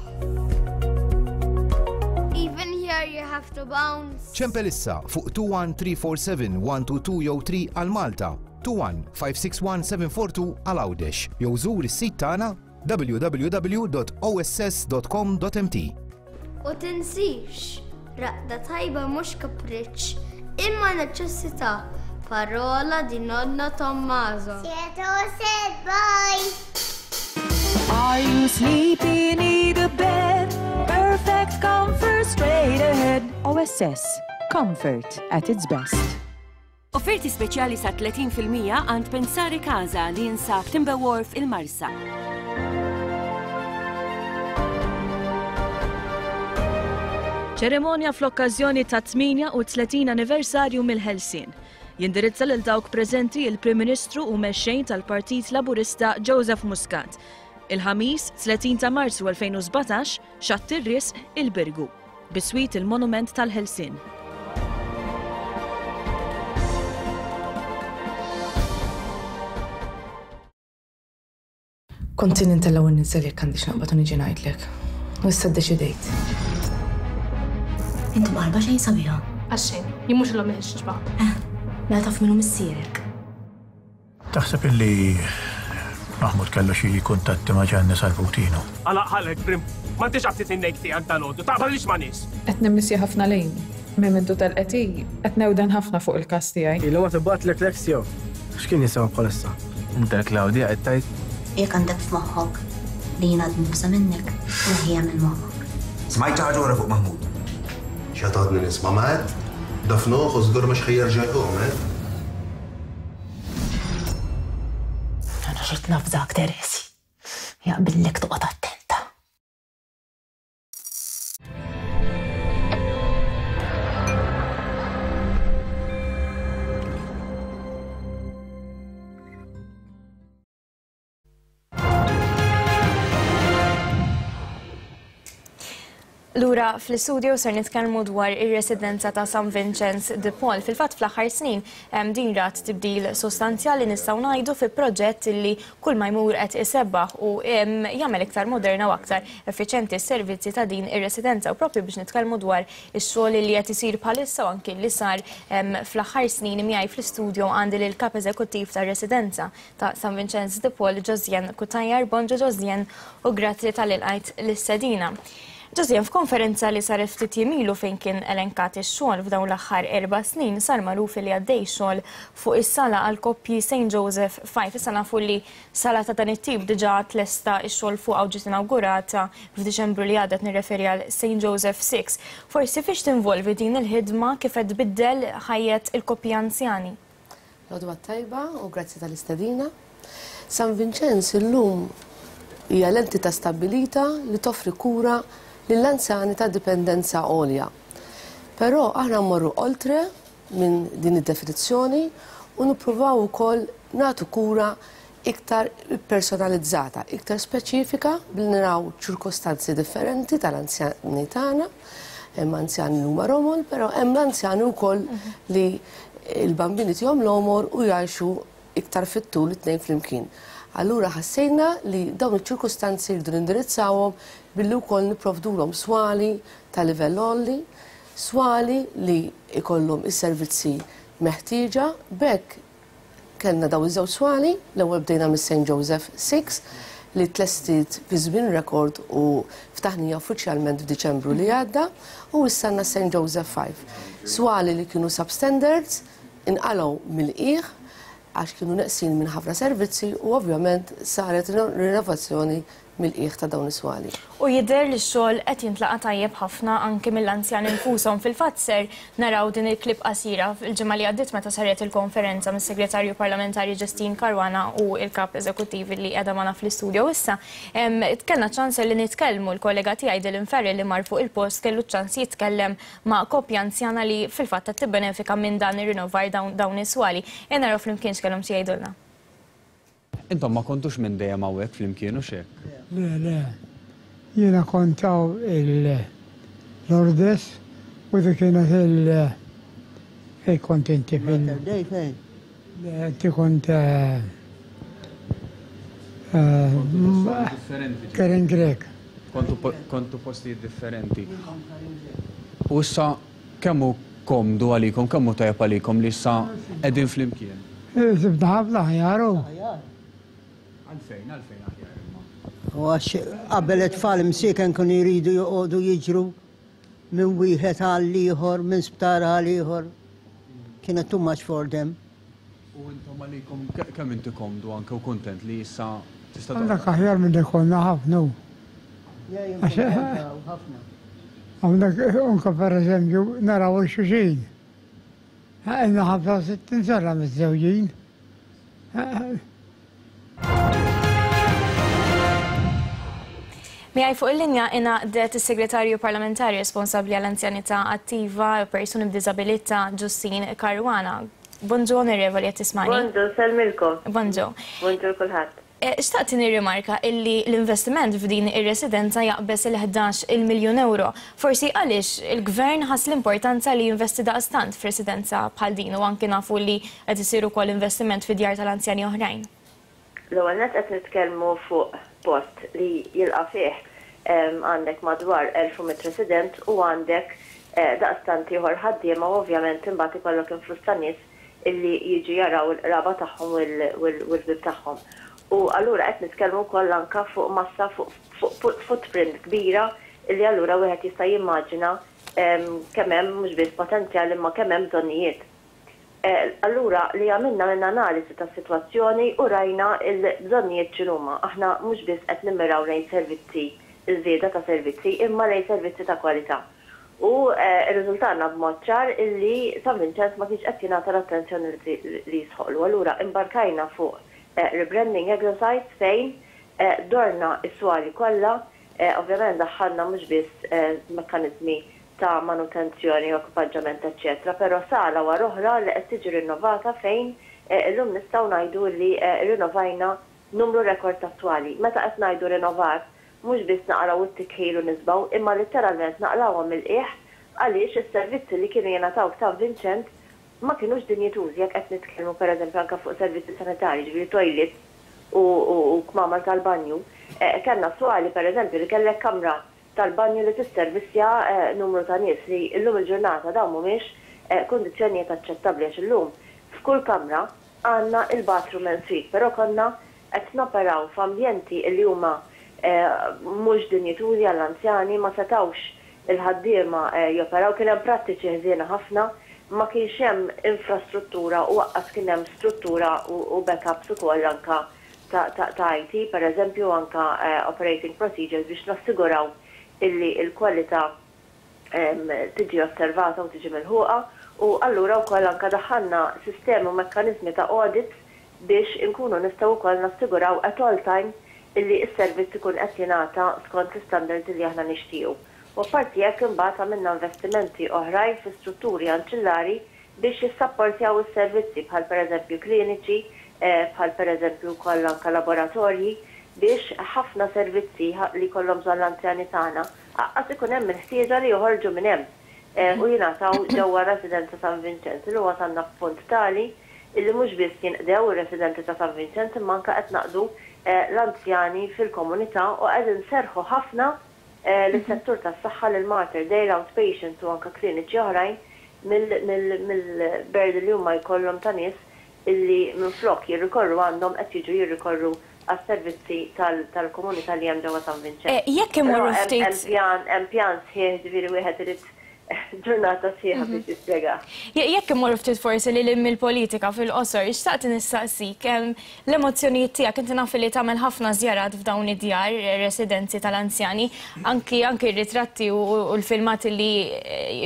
Even here you have to bounce. Ċempel issa fuq 21347 122 jew 3 għal Malta, 21 561 742 għal Għawdex jew żur is-sit tagħna www.oss.com.mt. U tinsix, raqda tajba mhux kapriċċ, imma neċessità. Parola di nonno Tommaso. Sieto said bye. Are you sleepy? Need a bed? Perfect comfort straight ahead. OSS. Comfort at its best. Offerti speċjali sa 30% għand Pensare Casa li jinsab Timber Wharf il-Marsa. Ċerimonja fl-okkażjoni tat-38 anniversarju mill-Ħelsien. Jindirizza lil dawk preżenti il-Prim Ministru u Mexxej tal-Partit Laburista Joseph Muscat. Il-Ħamis, 30 ta' Marzu 2017, Xatt ir-Risq, il-Birgu. Biswit il-Monument tal-Ħelsien. Kont ili ntella' u nniżżel jekk għandix naqbad u niġi ngħidlek. U issa ddeċidejt. Inti mqarba xejn sabiħa. Għax xejn, jien mhux l-omm il-ħixġba. Eh, mela taf min hu missierek. Taħseb illi Mahmoud kellu xi kuntatti ma' Gianni Salvutino? Għalaq ħalqek, Brim. M'għandix aptit in-nejk tiegħek dalgħodu. Taqbalix ma' nies. Qed nimmissja ħafna lejn. Minn mindu telqet hi, qed newden ħafna fuq il-każ tiegħi. Ilha ma tibgħatlek l-ex tiegħu. X'kien jisimha bħalissa? Inta l-Claudia qed tgħid? Jekk għandek f'moħħok li jien għad nibża' minnek, neħħiha minn moħħok. Smajt xi ħaġa oħra fuq Mahmoud. X'għad għadni nisma' Matt? Dafnuh u żgur mhux ħa jerġa' jqum, eh? Ara xi tnafżak Teresi. Jaqbillek toqgħod attenta. Lura fl-istudio ser nitkellmu dwar ir-residenza ta' San Vincenz de Paul. Fil-fatt fl-aħħar snin din rat tibdil sostanzjali nistgħu ngħidu fi proġett li kull ma jmur qed isebbaħ u jagħmel iktar moderna u aktar effiċjenti s-servizzi ta' din ir-residenza u proprju biex nitkellmu dwar ix-xogħol li qed isir bħalissa u anki li sar fl-aħħar snin miegħi fl-istudio għandi lill-Kap Eżekuttiv tar-Residenza ta' San Vinċenz de Paul Josiane Cutajar. Bonġu Josiane u grazzi talli lqajt l-istedina. Josiane, f'konferenza li saret ftit jiem ilu fejn kien elenkat ix-xogħol f'dawn l-aħħar erba' snin sar magħruf li għaddej xogħol fuq is-sala għall-koppji Saint Joseph Five. Issa nafu li sala ta' dan it-tip diġà tlesta x-xogħol fuqha u ġiet inawgurata f'Diċembru li għadda qed nirreferi għal Saint Joseph Six. Forsi fiex tinvolvi din il-ħidma kif qed tbiddel ħajjet il-koppji anzjani? L-għodwa t-tajba u grazzi tal-istedina. San Vinċenz illum hija l-entità stabbilita li toffri kura lill-anzjani ta' dipendenza għolja. Però aħna mmorru oltre minn din id-definizzjoni u nippruvaw ukoll nagħtu kura iktar ippersonalizzata, iktar speċifika billi naraw ċirkostanzi differenti tal-anzjani tagħna. Hemm anzjani li huma romol, però hemm l-anzjani wkoll li l-bambini tihom l-għomor u jgħixu iktar fit-tul it-tnejn flimkien. Allura ħassejna li dawn iċ-ċirkustanzi rridu nindirizzawhom billi wkoll nipprovdulhom swali ta' livell għoli, swali li jkollhom is-servizzi meħtieġa, b'hekk kellna dawn iż-żewġ swali, l-ewwel bdejna mis-St Joseph Six li tlestiet fi żmien rekord u ftaħnija uffiċjalment f'Diċembru li għadda u issa għandna St Joseph Five. Swali li kienu substandards inqalgħu mill-qiegħ għax kienu neqsin minn ħafna servizzi u ovvjament saret rinnovazzjoni mill-qiegħ ta' dawn is-swali. U jidher li x-xogħol qed jintlaqa' tajjeb ħafna anki mill-anzjani nfushom. Fil-fatt ser naraw din il-clip qasira l-ġimgħa li għaddiet meta saret il-konferenza mis-Segretarju Parlamentari Justyne Caruana u l-Kap Eżekuttiv li qiegħda magħna fl-istudio issa. Kellna ċ-ċans li nitkellmu, l-kollega tiegħi Dylan Farrell li mar fuq il-post kellu ċ-ċans jitkellem ma' koppja anzjana li fil-fatt qed tibbenefika minn dan ir-rinnovar dawn is-swali. Ejja naraw flimkien x'kellhom xi jgħidulna. Intom ma kontux minn dejjem hawnhekk flimkien hux hekk? Le, le. Jiena kont hawn il-Lourdes u dik kienet il fejn kont inti fil. Mater Dei fejn? Le, inti kont Karen Grech. Kontu postijiet differenti. U issa kemm hu komdu għalikom, kemm hu tajjeb għalikom li issa qegħdin flimkien? Sibna ħafna aħjar hu. Għalfejn, għalfejn aħjar imma? U għax qabel it-tfal imsieken kienu jridu joqogħdu jiġru. minn wieħed għal ieħor, minn sptar għal ieħor. Kienet too much for them. U intom għalikom kemm inti komdu anke u kuntent li issa tista' Hawnhekk aħjar milli konna ħafna hu. Ħafna. Hawnhekk anke pereżempju naraw il-xulxin. Ilna 65 sena miżżewġin. Miegħi fuq il-linja ingħaqdet is-Segretarju Parlamentari responsabbli għall-Anzjanità Attiva u Persuni b'Diżabilità Ġustin Caruana. Bonġu Onorevoli qed tismani? Bonġu, nsellmilkom. Bonġu. Bonġu 'l kulħadd. Xtaqt nirrimarka illi l-investiment f'din ir-residenza jaqbeż il-11 il miljun ewro. Forsi għaliex il-Gvern ħass l-importanza li jinvesti daqstant f'residenza bħal din u anki nafu li qed isir ukoll investiment fi djar tal-anzjani oħrajn? L-ewwel nett qed nitkellmu fuq post li jilqa' fih għandek madwar 1,100 resident u għandek daqstant ieħor ħaddiema u ovvjament imbagħad ikollok influss ta' nies illi jiġu jaraw il-qraba tagħhom u l-ħbieb tagħhom. U allura qed nitkellmu wkoll anke fuq massa fuq footprint kbira illi allura wieħed jista' jimmaġina kemm hemm mhux biss potenzjal imma kemm hemm bżonnijiet. Allura li għamilna għamilna analisi tas-sitwazzjoni u rajna l-bżonnijiet x'inhuma. Aħna mhux biss qed nimmiraw lejn servizzi, iż-żieda ta' servizzi, imma lejn servizzi ta' kwalità. U rriżultalna b'mod ċar illi San Vinċenz ma kienx qed jingħata l-attenzjoni li jistħoqqlu. Allura imbarkajna fuq rebranding exercise fejn dorna s-swali kollha, ovvjament daħħalna mhux biss mekkaniżmi ta' manutenzjoni u ekwipaġġament eċċetera però sala wara oħra li qed tiġi rinnovata fejn illum nistgħu ngħidu li rrinnovajna numru rekord ta' swali. Meta qed ngħidu rinnovar mhux biss naqalgħu t-tikħil u niżbgħu imma litteralment naqlgħuhom mill-qiegħ għaliex is-servizzi li kienu jingħataw f'San Vinċent ma kinux dinjitużi jekk qed nitkellmu pereżempju anke fuq servizzi sanitarji, ġifieri toilets u kmamar tal-banju. Kellna swali pereżempju li kellek kamra tal-banju li tisservissja numru ta' nies li llum il-ġurnata dawn mhumiex kundizzjonijiet aċċettabbli għax illum f'kull kamra għandna il-bathroom en suite però konna qed noperaw f'ambjenti li huma mhux dinjitużi għall-anzjani, ma setgħux il-ħaddiema joperaw, kien hemm prattiċi ħżiena ħafna, ma kienx hemm infrastruttura u aqqas kien hemm struttura u backups ukoll anke ta' IT, per eżempju, anke operating procedures biex nassiguraw illi l-kwalità tiġi osservata u tiġi milħuqa u allura wkoll anke daħħalna sistemi u mekkaniżmi ta' audits biex inkunu nistgħu wkoll nassiguraw at all time illi s-servizz ikun qed jingħata skont l-istandards illi aħna nixtiequ. U apparti hekk imbagħad għamilna investimenti oħrajn fi strutturi anċillari biex jissapportjaw is-servizzi bħal pereżempju kliniċi, bħal pereżempju wkoll anke laboratorji biex ħafna servizzi li jkollhom bżonn l-anzjani tagħna aqqas ikun hemm il-ħtieġa li joħorġu minn hemm u jingħataw ġewwa r-Residenza San Vinċenz. Illum wasalna f'punt tali illi mhux biss jinqdew ir-residenti ta' San Vinċenz imma anke qed naqdu l-anzjani fil-komunità u qed inserrħu ħafna lis-settur tas-saħħa, lil Mater Dei, l-outpatients u anke kliniċi oħrajn mill-burden li huma jkollhom ta' nies illi minflok jirrikorru għandhom qed jiġu jirrikorru għas-servizzi tal-komunità li hemm ġewwa San Vinċenz. Jekk imorru ftit. Però hemm pjan, hemm pjan sħiħ, ġifieri wieħed irid ġurnata sħiħa biex jispjegah. Jekk immorru ftit forsi lil hinn mill-politika fil-qosor, xtaqt nistaqsik, l-emozzjonijiet tiegħek, inti naf li tagħmel ħafna żjarat f'dawn id-djar, residenzi tal-anzjani, anki anki r-ritratti u l-filmati li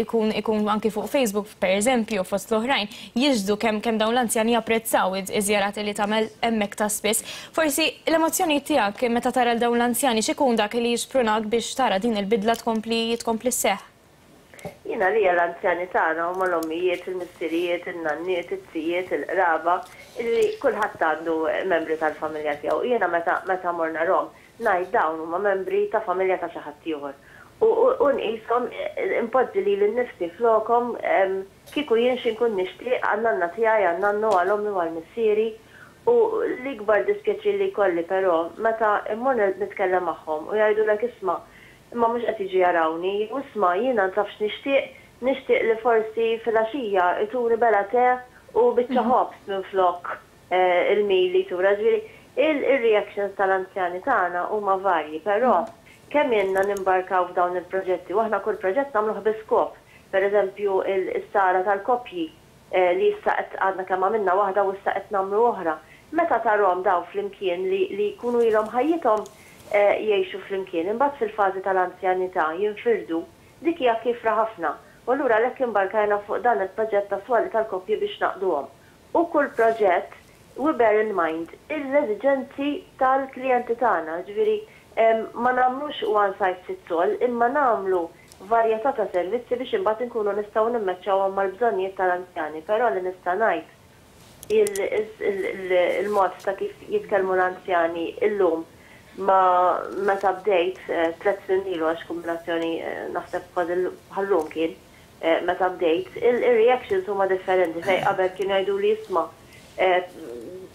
jkun ikun anki fuq Facebook pereżempju fost l-oħrajn, jixhdu kemm kemm dawn l-anzjani japprezzaw iż-żjarat li tagħmel hemmhekk ta' spiss. Forsi l-emozzjonijiet tiegħek meta tara 'l dawn l-anzjani x'ikun dak li jixprunak biex tara din il-bidla tkompli tkompli sseħħ? Jien għalija l-anzjani tagħna huma l-ommijiet, il-missirijiet, in-nanniet, iz-zijiet, il-qraba, illi kulħadd għandu membri tal-familja tiegħu. Jiena meta meta mmur narhom, ngħid dawn huma membri ta' familja ta' xi ħadd ieħor. U u nqishom, inpoġġi lili nnifsi flokhom, kieku jien xi nkun nixtieq għan-nanna tiegħi, għan-nannu, għal ommi u għal missieri. U l-ikbar dispjaċir li jkolli però, meta mmur nitkellem magħhom u jgħidulek isma' Imma mhux qed jiġu jarawni. Jew isma', jiena taf x'nixtieq? Nixtieq li forsi filgħaxija jtuni bela te u biċċa ħobż minflok il-meal li jtura. Ġifieri, ir-reactions tal-anzjani tagħna huma varji, però Kemm ilna nimbarkaw f'dawn il-proġetti u aħna kull proġett nagħmluh bi skop. Per eżempju, is-sala tal-koppji li issa qed għadna kemm għamilna waħda u issa qed nagħmlu oħra. Meta tarhom dawn flimkien li li jkunu ilhom ħajjithom jgħixu flimkien, imbagħad fil-fażi tal-anzjanità jinfirdu, dik hija kiefra ħafna. U allura għalhekk imbarkajna fuq dan il-proġett ta' swali tal-koppji biex ngħaqqduhom. U kull proġett we bear in mind l-eżiġenzi tal-klijenti tagħna, jiġifieri ma nagħmlux one size fits all imma nagħmlu varjetà ta' servizzi biex imbagħad inkunu nistgħu nimmeċċawhom mal-bżonnijiet tal-anzjani. Però li nista' ngħid il-mod ta' kif jitkellmu l-anzjani illum ma' meta bdejt tlett snin ilu għax kumbinazzjoni naħseb kważi bħal-lum kien, meta bdejt, ir-reactions huma differenti fejn qabel kienu jgħiduli isma'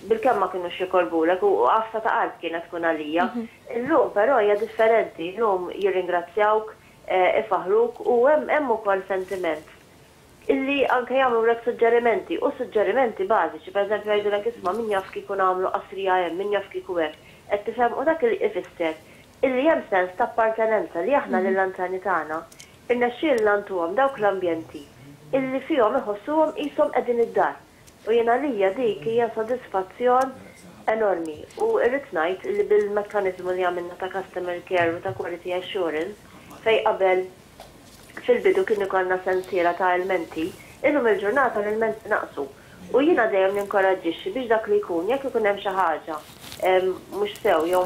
bilkemm ma kinux jikolbulek u għafsa ta' qalb kienet tkun għalija. Illum però hija differenti, illum jirringrazzjawk, ifaħħruk u hemm hemm ukoll sentiment illi anke jagħmlulek suġġerimenti u suġġerimenti bażiċi, pereżempju jgħidulek isma' min jaf kieku nagħmlu qasrija hemm, min jaf kieku hekk, qed tifhem u dak ifisser illi hemm sens ta' appartenenza li aħna lill-anzjani tagħna Irnexxielna ntuhom dawk l-ambjenti illi fihom iħossuhom qishom qegħdin id-dar. U jien għalija dik hija sodisfazzjon enormi u rrid ngħid illi bil-mekkaniżmu li għamilna ta' customer care u ta' quality assurance fejn qabel fil-bidu kien ikollna sensiela ta' ilmenti, illum il-ġurnata l-ilmenti naqsu. U jiena dejjem ninkoraġġixxi biex dak li jkun jekk ikun hemm xi ħaġa mhux sew jew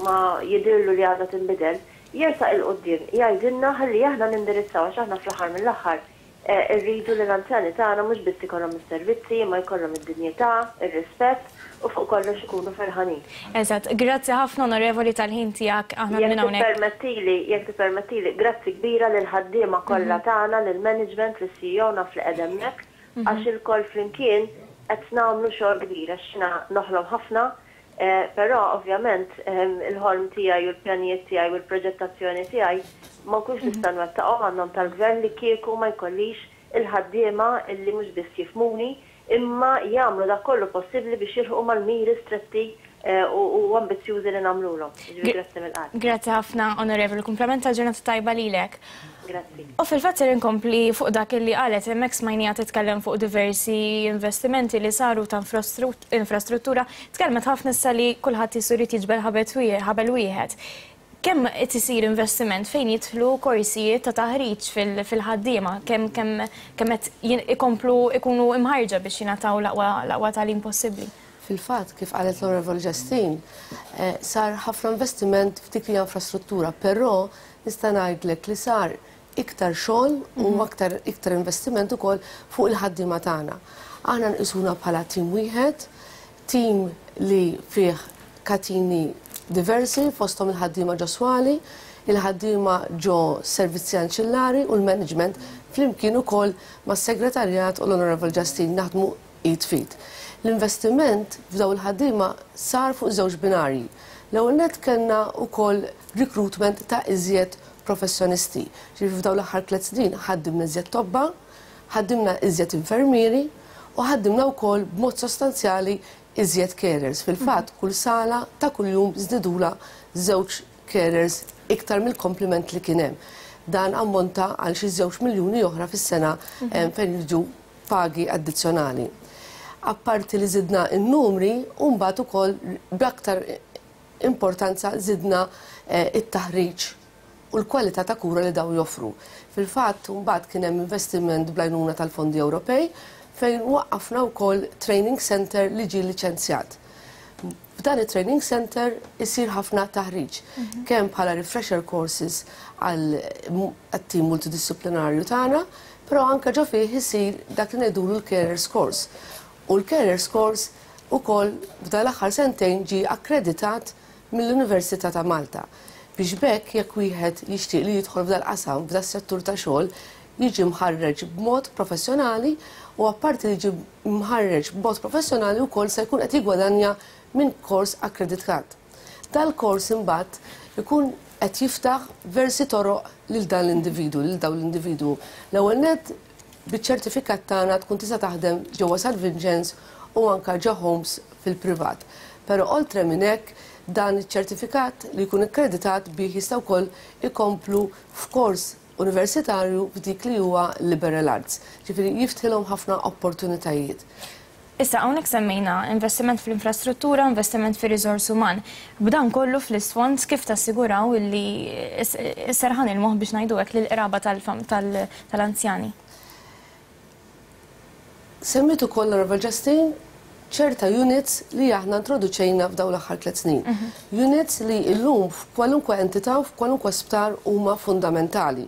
ma jidhirlu li għandha tinbidel, Jersaq 'il quddiem, jgħidilna ħalli aħna nindirizzaw għax aħna fl-aħħar mill-aħħar irridu li l-anzjani tagħna mhux biss ikollhom is-servizzi imma jkollhom id-dinjità, ir-rispett u fuq kollox ikunu ferħanin. Eżatt. Grazzi ħafna Onorevoli tal-ħin tiegħek aħna Jekk minn hawnhekk. tippermettili, jekk tippermettili, grazzi kbira lill-ħaddiema kollha tagħna, lill-management, lis-CEO naf li qegħda hemmhekk, għax ilkoll flimkien qed nagħmlu xogħol kbir għax jiena noħlom ħafna Però ovvjament il-ħolm tiegħi u l-pjanijiet tiegħi u l-proġettazzjoni tiegħi ma nkunx nista' nwettaqhom għan-nom tal-Gvern li kieku ma jkollix il-ħaddiema li mhux biss jifhmuni imma jagħmlu dak kollu possibbli biex jilħqu mal-miri stretti u ambizzjużi li nagħmlulhom. Jiġifieri grazzi mill-qalb. Grazzi ħafna Onorevoli, kumplament ta' ġurnata tajba lilek. Grazzi. U fil-fatt ser inkompli fuq dak li qalet hemmhekk smajniha titkellem fuq diversi investimenti li saru ta' infrastruttura. Tkellmet ħafna issa li kulħadd qisu jrid jiġbel ħabel wieħed. Kemm qed isir investiment fejn jidħlu korsijiet ta' taħriġ fil-ħaddiema, kemm kemm kemm qed ikomplu jkunu imħarrġa biex jingħataw l-aqwa tagħlim possibbli? Fil-fatt, kif qalet l-Onorevoli Justine, sar ħafna investiment f'dik li hija infrastruttura, però Nista' ngħidlek li sar iktar xogħol u aktar iktar investiment ukoll fuq il-ħaddiema tagħna. Aħna nqisuna bħala tim wieħed, tim li fih katini diversi fosthom il-ħaddiema ġo swali, il-ħaddiema ġo servizzi anċillari u l-management flimkien ukoll mas-segretarjat u l-Honourable Justine naħdmu id f'id. L-investiment f'dawn il-ħaddiema sar fuq żewġ binarji. L-ewwel nett kellna wkoll recruitment ta' iżjed professjonisti. Ġifieri f'dawn l-aħħar tlett snin ħaddimna iżjed tobba, ħaddimna iżjed infermieri u ħaddimna wkoll b'mod sostanzjali iżjed carers. Fil-fatt kull sala ta' kuljum żdidulha żewġ carers iktar mill-komplement li kien hemm. Dan ammonta għal xi żewġ miljuni oħra fis-sena fejn jiġu pagi addizzjonali. Apparti li żidna n-numri u mbagħad ukoll b'aktar importanza żidna t-taħriġ u l-kwalità ta' kura li dawn joffru. Fil-fatt, mbagħad kien hemm investiment bl-għajnuna tal-fondi Ewropej fejn waqqafna wkoll training centre li ġie liċenzjat. F'dan it-training centre isir ħafna taħriġ, kemm bħala refresher courses għat-tim multidixxiplinarju tagħna, però anke ġo fih isir dak li ngħidulu l-carers course. U l-carers course ukoll f'dan l-aħħar sentejn ġie akkreditat mill-Università ta' Malta biex b'hekk jekk wieħed jixtieq li jidħol f'dal-qasam, f'das-settur ta' xogħol, jiġi mħarreġ b'mod professjonali u apparti li jiġi mħarreġ b'mod professjonali wkoll se jkun qed jiggwadanja minn kors akkreditat. Dal-kors imbagħad ikun qed jiftaħ versi toroq lil dan l-individwu, lil dawn l-individwu. L-ewwel nett biċ-ċertifikat tagħna tkun tista' taħdem ġewwa San Vinċenz u anke ġo homes fil-privat. Però oltre minn hekk Dan iċ-ċertifikat li jkun ikkreditat bih jistgħu wkoll ikomplu f'kors universitarju f'dik li huwa liberal arts. Ġifieri jiftħilhom ħafna opportunitajiet. Issa hawnhekk semmejna investiment fl-infrastruttura, investiment fir-riżors uman. B'dan kollu fl-isfond kif tassiguraw illi s-serħan il-moħħ biex ngħidu hekk lill-qraba tal-anzjani? Semmiet ukoll l-Onorevole Justine ċerta units li aħna introduċejna f'dawn l-aħħar tlett snin. Units li llum f'kwalunkwe entità u f'kwalunkwe sptar huma fundamentali.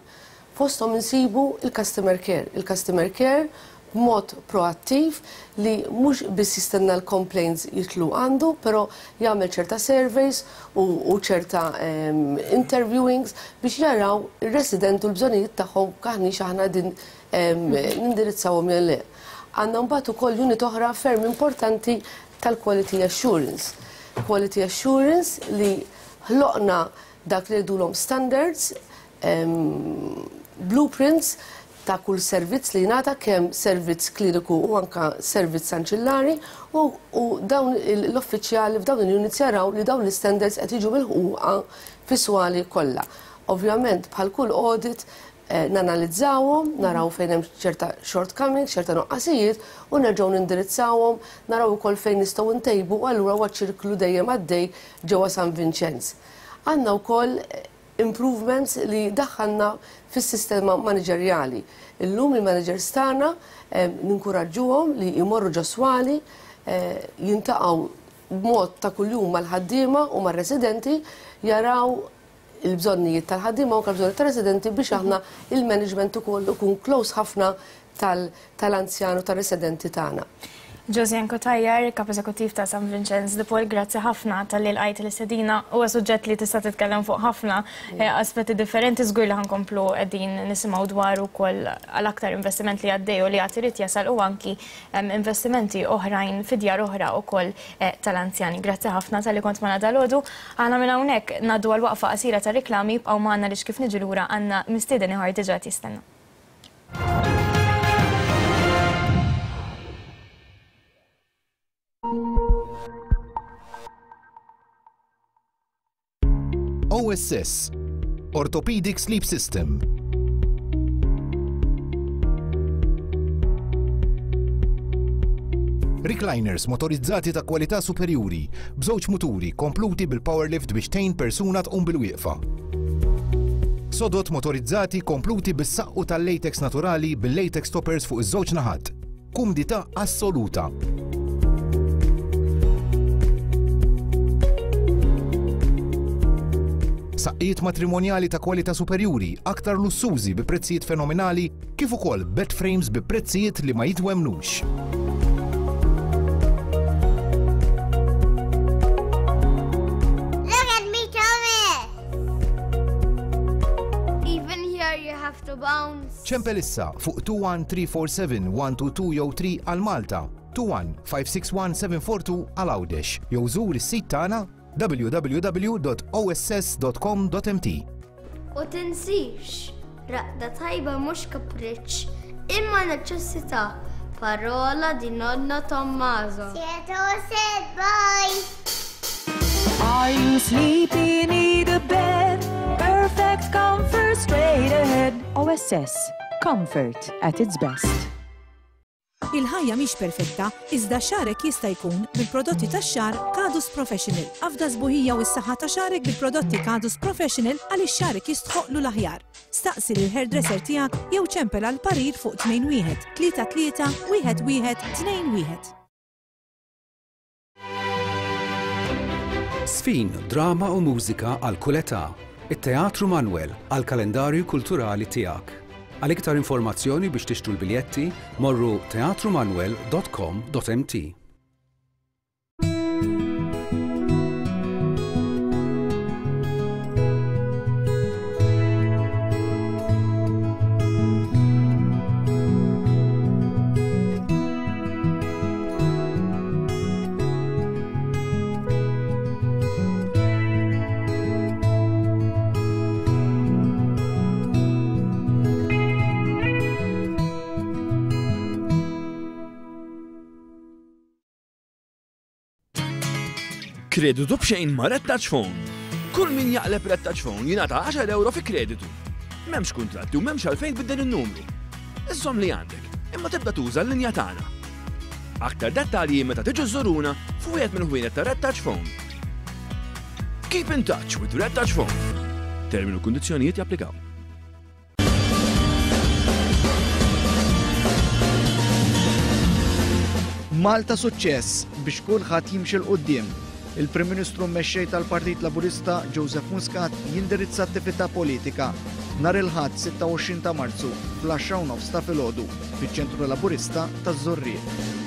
Fosthom insibu l-customer care. Il-customer care b'mod proattiv li mhux biss jistenna l-complaints jidħlu għandu, però jagħmel ċerta surveys u ċerta interviewings biex jaraw ir-resident u l-bżonnijiet tagħhom aħniex aħna qegħdin nindirizzawhom jew le. Għandna mbagħad ukoll unit oħra ferm importanti tal-quality assurance. Quality assurance li ħloqna dak li ngħidulhom standards, blueprints ta' kull servizz li jingħata kemm servizz kliniku u anka servizz anċillari u, u dawn l-uffiċjali f'dawn il-units jaraw li dawn l-istandards qed jiġu milħuqa fis-swali kollha. Ovvjament bħal kull audit nanalizzawhom, naraw fejn hemm ċerta shortcomings, ċerta nuqqasijiet u nerġgħu nindirizzawhom, naraw ukoll fejn nistgħu ntejbu u allura huwa ċirklu dejjem għaddej ġewwa San Vinċenz. Għandna wkoll improvements li daħħalna fis-sistema maniġerjali. Illum il-managers tagħna ninkuraġġuhom li jmorru ġo swali, jintaqgħu b'mod ta' kuljum mal-ħaddiema u mar-residenti, jaraw il-bżonnijiet tal-ħaddiema u anke l-bżonnijiet tar-residenti biex aħna il-management ukoll ikun close ħafna tal-anzjan u tar-residenti tagħna. Josianne Cutajar, Kap Eżekuttiv ta' San Vinċenz de Paul, grazzi ħafna talli lqajt l-istedina. Huwa suġġett li tista' titkellem fuq ħafna aspetti differenti, żgur li ħa nkomplu qegħdin nisimgħu dwaru wkoll għal aktar investiment li għaddej u li għad irid jasal u anki investimenti oħrajn fi djar oħra wkoll tal-anzjani. Grazzi ħafna talli kont magħna dalgħodu. Aħna minn hawnhekk ngħaddu għal waqfa qasira ta' riklami, ibqgħu magħna għaliex kif niġu lura għandna mistieden ieħor diġà qed jistenna. OSS, Orthopedic Sleep System. Recliners motorizzati ta' kwalità superjuri, b'żewġ muturi kompluti bil-power lift biex tgħin persuna tqum bil-wieqfa. Sodod motorizzati kompluti bis-saqqu tal-latex naturali bil-latex toppers fuq iż-żewġ naħat. Kumdità assoluta. Saqqijiet matrimonjali ta' kwalità superjuri, aktar lussużi bi prezzijiet fenomenali, kif ukoll bed frames bi prezzijiet li ma jitwemmnux. Look at me, Thomas! Even here you have to bounce. Ċempel issa fuq 21 347 122 jew 3 għal Malta, 21 561 742 għal Għawdex jew żur is-sit tagħna www.oss.com.mt. U tinsix, raqda tajba mhux kapriċċ, imma neċessità. Parola di nonno Tommaso. Said, bye! Are you sleepy? Need a bed? Perfect comfort straight ahead. OSS. Comfort at its best. Il-ħajja mhix perfetta, iżda xagħrek jista' jkun bil-prodotti tax-xagħar Kadus Professional. Afda s-sbuħija u s-saħħa ta' xagħrek bil-prodotti Kadus Professional għaliex xagħrek jistħoqqlu l-aħjar. Staqsi lill-hairdresser tiegħek jew ċempel għal parir fuq 21 33 1 1 2 1. Żfin, drama u mużika għal kull età. It-Teatru Manwel għall-kalendarju kulturali tiegħek. Għal iktar informazzjoni biex tixtru l-biljetti, morru teatrumanwel.com.mt. Kreditu b'xejn ma' Red Touch Phone. Kull min jaqleb Red Touch Phone jingħata 10 ewro fi kreditu. M'hemmx kuntratti u m'hemmx għalfejn tbiddel in-numru. Iżżomm li għandek, imma tibda tuża l-linja tagħna. Aktar dettalji meta tiġu żżuruna f'wieħed mill-ħwienet ta' Red Touch Phone. Keep in touch with Red Touch Phone. Termini u kundizzjonijiet japplikaw. Malta suċċess biex kulħadd jimxi 'l quddiem. Il-Prim Ministru u Mexxej tal-Partit Laburista Joseph Muscat jindirizza attività politika nhar il-Ħadd 26 ta' Marzu fl-għaxra u nofs ta' filgħodu fiċ-Ċentru Laburista taż-Żurrieq.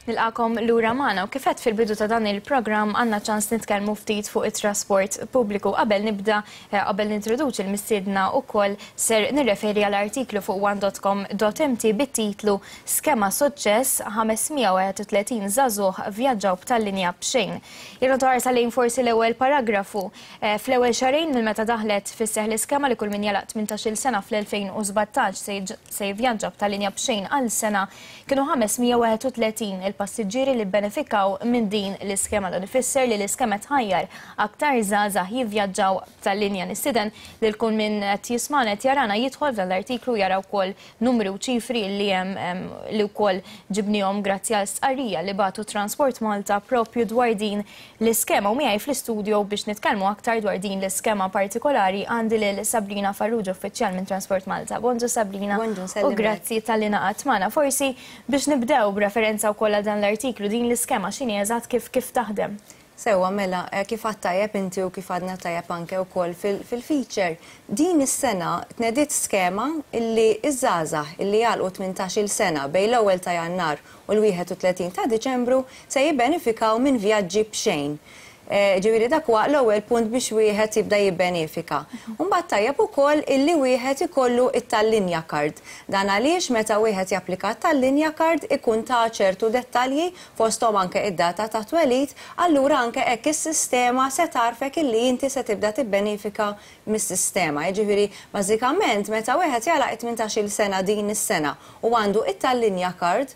Nilqakom lura magħna u kif għedt fil-bidu ta' dan il-programm għandna ċans nitkellmu ftit fuq it-trasport pubbliku. Qabel nibda, eh, qabel nintroduċi l-mistiedna wkoll ser nirreferi għal artiklu fuq one.com.mt bit-titlu Skema suċċess, 531 żagħżugħ vvjaġġaw b'tal-linja b'xejn. Jien ħarsa lejn forsi l-ewwel paragrafu. Eh, fl-ewwel xahrejn minn meta daħlet fis-seħħ l-iskema li kull min jagħlaq 18-il sena fl-2017 se jivvjaġġa b'tal-linja b'xejn għal sena, kienu 531 il-passiġġieri li bbenefikaw minn din l-iskema. Dan ifisser li l-iskema tħajjar aktar żgħażagħ jivvjaġġaw b'tal-linja. Nistieden lil kull min qed jismagħna qed jarana jidħol f'dan l-artiklu jara wkoll numri u ċifri li hemm li wkoll ġibnihom grazzi għal stqarrija li bagħtu Transport Malta propju dwar din l-iskema. U miegħi fl-istudio biex nitkellmu aktar dwar din l-iskema partikolari għandi lil Sabrina Farrugia, uffiċjal minn Transport Malta. Bonġu Sabrina. Bonġu, U grazzi talli ngħaqadt magħna. Forsi biex nibdew b'referenza wkoll għal dan l-artiklu, din l-iskema x'inhi eżatt kif kif taħdem? Sewwa, mela, kif għedt tajjeb inti u kif għadna tajjeb anke wkoll fil-feature, din is-sena tnediet skema illi ż-żgħażagħ illi jagħlqu tmintax-il sena bejn l-ewwel ta' Jannar u l-31 ta' Diċembru se jibbenifikaw minn vjaġġi b'xejn. Ġifieri dak huwa l-ewwel punt biex wieħed jibda jibbenefika. U mbagħad tajjeb ukoll illi wieħed ikollu t-Tallinja Card. Dan għaliex meta wieħed japplika għat-Tallinja Card ikun ta ċertu dettalji fosthom anke id-data tat-twelid, allura anke hekk is-sistema se tgħarrfek illi inti se tibda tibbenifika mis-sistema. Jiġifieri, bażikament, meta wieħed jagħlaq it-tmintax-il sena din is-sena u għandu it-Tallinja Card,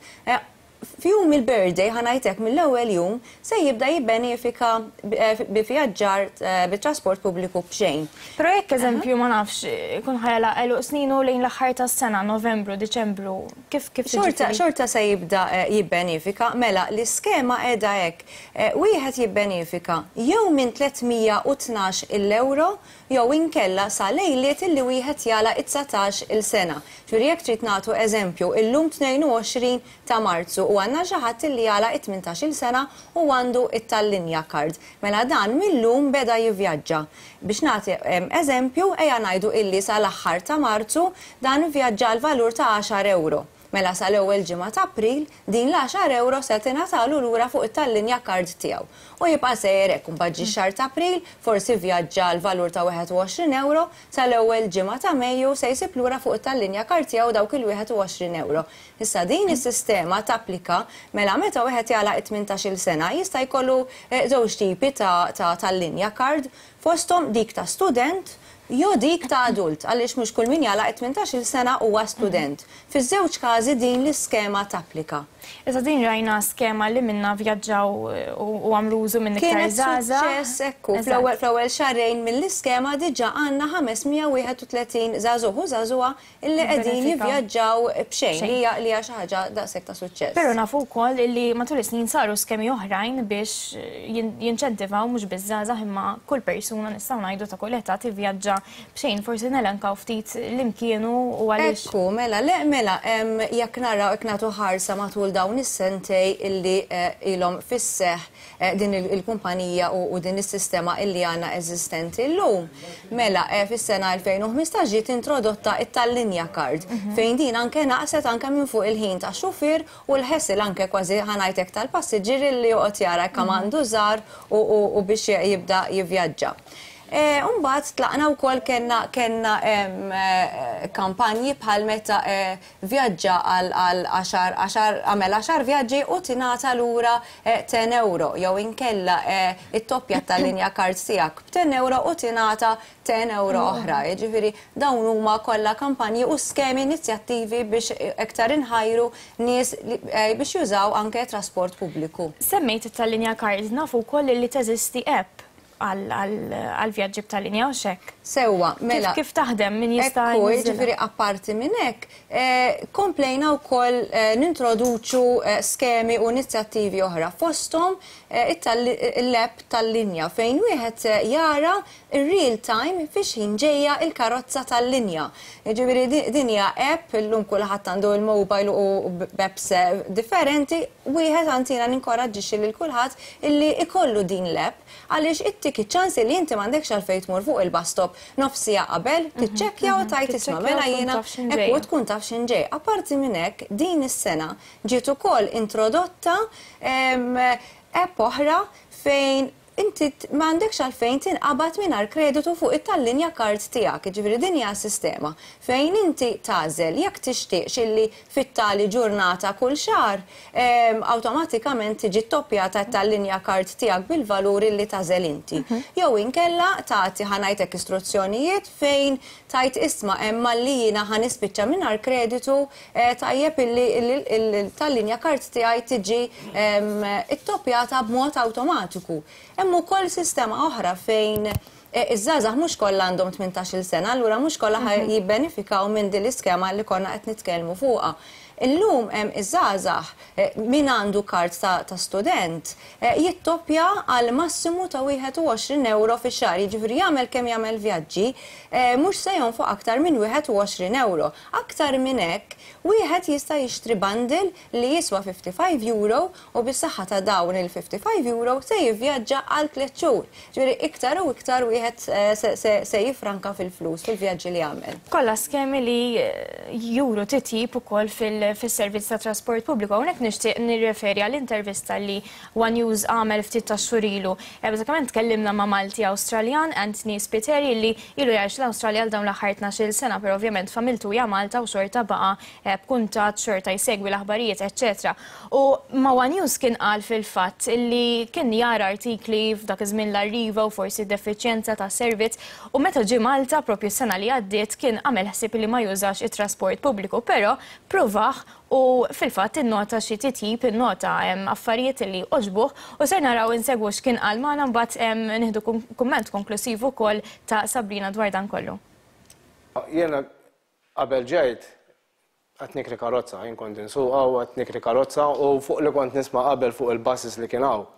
f'jum il-birthday, ħa ngħid hekk, mill-ewwel jum, se jibda jibbenefika bi vjaġġar bit-trasport pubbliku b'xejn. Però jekk eżempju, ma nafx, ikun ħa jagħlaq għeluq sninu lejn l-aħħar tas-sena, Novembru, Diċembru, Kif kif Xorta xorta se jibda jibbenifika, mela l-iskema qiegħda hekk, wieħed jibbenifika jew minn 312 il ewro jew inkella sa lejliet illi wieħed jagħlaq it-dsatax il sena. Ġifieri jekk trid nagħtu eżempju, illum 22 ta' Marzu u għandna xi ħadd illi jagħlaq it-tmintax il sena u għandu it-Tallinja Card. Mela dan mil-lum beda jivvjaġġa. Biex nagħti eżempju, ejja ngħidu illi sa l-aħħar ta' Marzu dan ivvjaġġa għal valur ta' għaxar ewro. Mela sa l-ewwel ġimgħa ta' April, din l-għaxar ewro se tingħatalu lura fuq it-Tallinja Card tiegħu. U jibqa' sejjer hekk, imbagħad ġie x-xahar ta' April, forsi vvjaġġa għal valur ta' 21 ewro, sa l-ewwel ġimgħa ta' Mejju se jsib lura fuq it-Tallinja Card tiegħu dawk il-21 ewro. Issa din is-sistema tapplika mela meta wieħed jagħlaq it-tmintax-il sena jista' jkollu żewġ tipi ta' ta' tal-linja card fosthom dik ta' student jew dik ta' adult għaliex mhux kull min jagħlaq it-tmintax-il sena huwa student. Fiż-żewġ każi din l-iskema tapplika. Issa din rajna skema li minnha vjaġġaw u għamlu użu minn iktar Kienet żgħażagħ. suċċess ekku. Fl-ewwel fl-ewwel xahrejn mill-iskema diġà għandna 531 żagħżugħ u żagħżugħa Illi qegħdin jivvjaġġaw b'xejn, li hija li hija xi ħaġa daqshekk ta' suċċess. Però nafu wkoll illi matul is-snin saru skemi oħrajn biex jinċentivaw mhux biss żgħażagħ imma kull persuna nistgħu ngħidu ta' kull età tivvjaġġa b'xejn. Forsi nelenkaw ftit liem kienu u għaliex. Ekku, mela, le, mela, jekk naraw, jekk nagħtu ħarsa matul dawn is-sentej illi ilhom fis-seħħ din il-kumpanija u din is-sistema illi għandna eżistenti llum. Mela, fis-sena 2015 ġiet introdotta it-Tallinja Card, fejn din anke naqset anke minn fuq il-ħin tax-xufier u l-hassle anke kważi ħa ngħid hekk tal-passiġġier illi joqgħod jara kemm għandu żgħar u biex jibda jivvjaġġa. U mbagħad tlaqna wkoll kellna kellna kampanji bħal meta vjaġġa għal għal għaxar għaxar għamel għaxar vjaġġi u tingħata lura ten ewro jew inkella ittoppja t-tallinja card tiegħek b'ten ewro u tingħata ten ewro oħra. Jiġifieri dawn huma kollha kampanji u skemi inizjattivi biex iktar inħajru nies biex jużaw anke trasport pubbliku. Semmejt it-tallinja card, nafu wkoll li teżisti app għal vjaġġi b'tal-linja hux hekk? Sewwa, mela. Kif taħdem, min jista' Ekku, jiġifieri apparti minn hekk, komplejna wkoll nintroduċu skemi u inizjattivi oħra, fosthom l-app tal-linja fejn wieħed jara r-real time fi x'ħin ġejja l-karozza tal-linja. Jiġifieri din hija app, illum kulħadd għandu l-mobile u b'apps differenti, wieħed anzi jiena ninkoraġġixxi lil kulħadd illi jkollu din l-app għaliex ittik iċ-ċans illi inti m'għandekx għalfejn tmur fuq il-bus stop nofs siegħa qabel, tiċċekkja u tgħid isma' mela jiena hekk u tkun taf x'ħin ġej. Apparti minn hekk, din is-sena ġiet ukoll introdotta app oħra fejn inti m'għandekx għalfejn tinqabad mingħajr kreditu fuq it-tallinja card tiegħek. Jiġifieri din hija sistema fejn inti tagħżel jekk tixtieqx illi fit-tali ġurnata kull xahar awtomatikament tiġi ttoppjata t-tallinja card tiegħek bil-valur illi tagħżel inti. Jew inkella tagħti ħa ngħidlek istruzzjonijiet fejn tgħid isma' hemm malli jiena ħa nispiċċa mingħajr kreditu tajjeb illi l-tallinja card tiegħi tiġi ttoppjata b'mod awtomatiku. Hemm ukoll sistema oħra fejn iż-żgħażagħ mhux kollha għandhom 18-il sena, allura mhux kollha ħa jibbenefikaw minn din l-iskema li konna qed nitkellmu fuqha. Illum iż-żgħażagħ min għandu kard ta' student jittoppja għal massimu ta' 21 ewro fix-xahar, jiġifieri jagħmel kemm jagħmel vjaġġi mhux se jonfoq aktar minn 21 ewro. Aktar minn hekk, wieħed jista' jixtri bundle li jiswa 55 euro u bis-saħħa ta' dawn il-55 euro se jivvjaġġa għal tliet xhur. Ġifieri iktar u iktar wieħed se jiffranka fil-flus fil-vjaġġi li jagħmel. Kollha skemi li juru titjib ukoll fis-servizz tat-trasport pubbliku. Hawnhekk nixtieq nirreferi għal intervista li One News għamel ftit tax-xhur ilu. Bażikament tkellimna ma' Malti Awstraljan, Anthony Spiteri, li ilu jgħix l-Awstralja għal dawn l-aħħar 12-il sena, però ovvjament familtu hija Malta u xorta baqa' b'kuntatt, xorta jsegwi l-aħbarijiet, eċċetera. U ma' One News kien qal fil-fatt li kien jara artikli f'dak iż-żmien l-Arriva u forsi d-defiċjenza ta' servizz u meta ġie Malta propju s-sena li għaddiet kien għamel ħsieb li ma jużax it-trasport pubbliku però pruvah u fil-fatt innota xi titjib, innota affarijiet li għoġbuh u ser naraw insegwu x'kien qal magħna mbagħad nieħdu kumment konklusiv ukoll ta' Sabrina dwar dan kollu. Jiena qabel ġejt Qed nikri karozza, jien kont insuqha u qed nikri karozza u fuq li kont nisma' qabel fuq il-buses li kien hawn,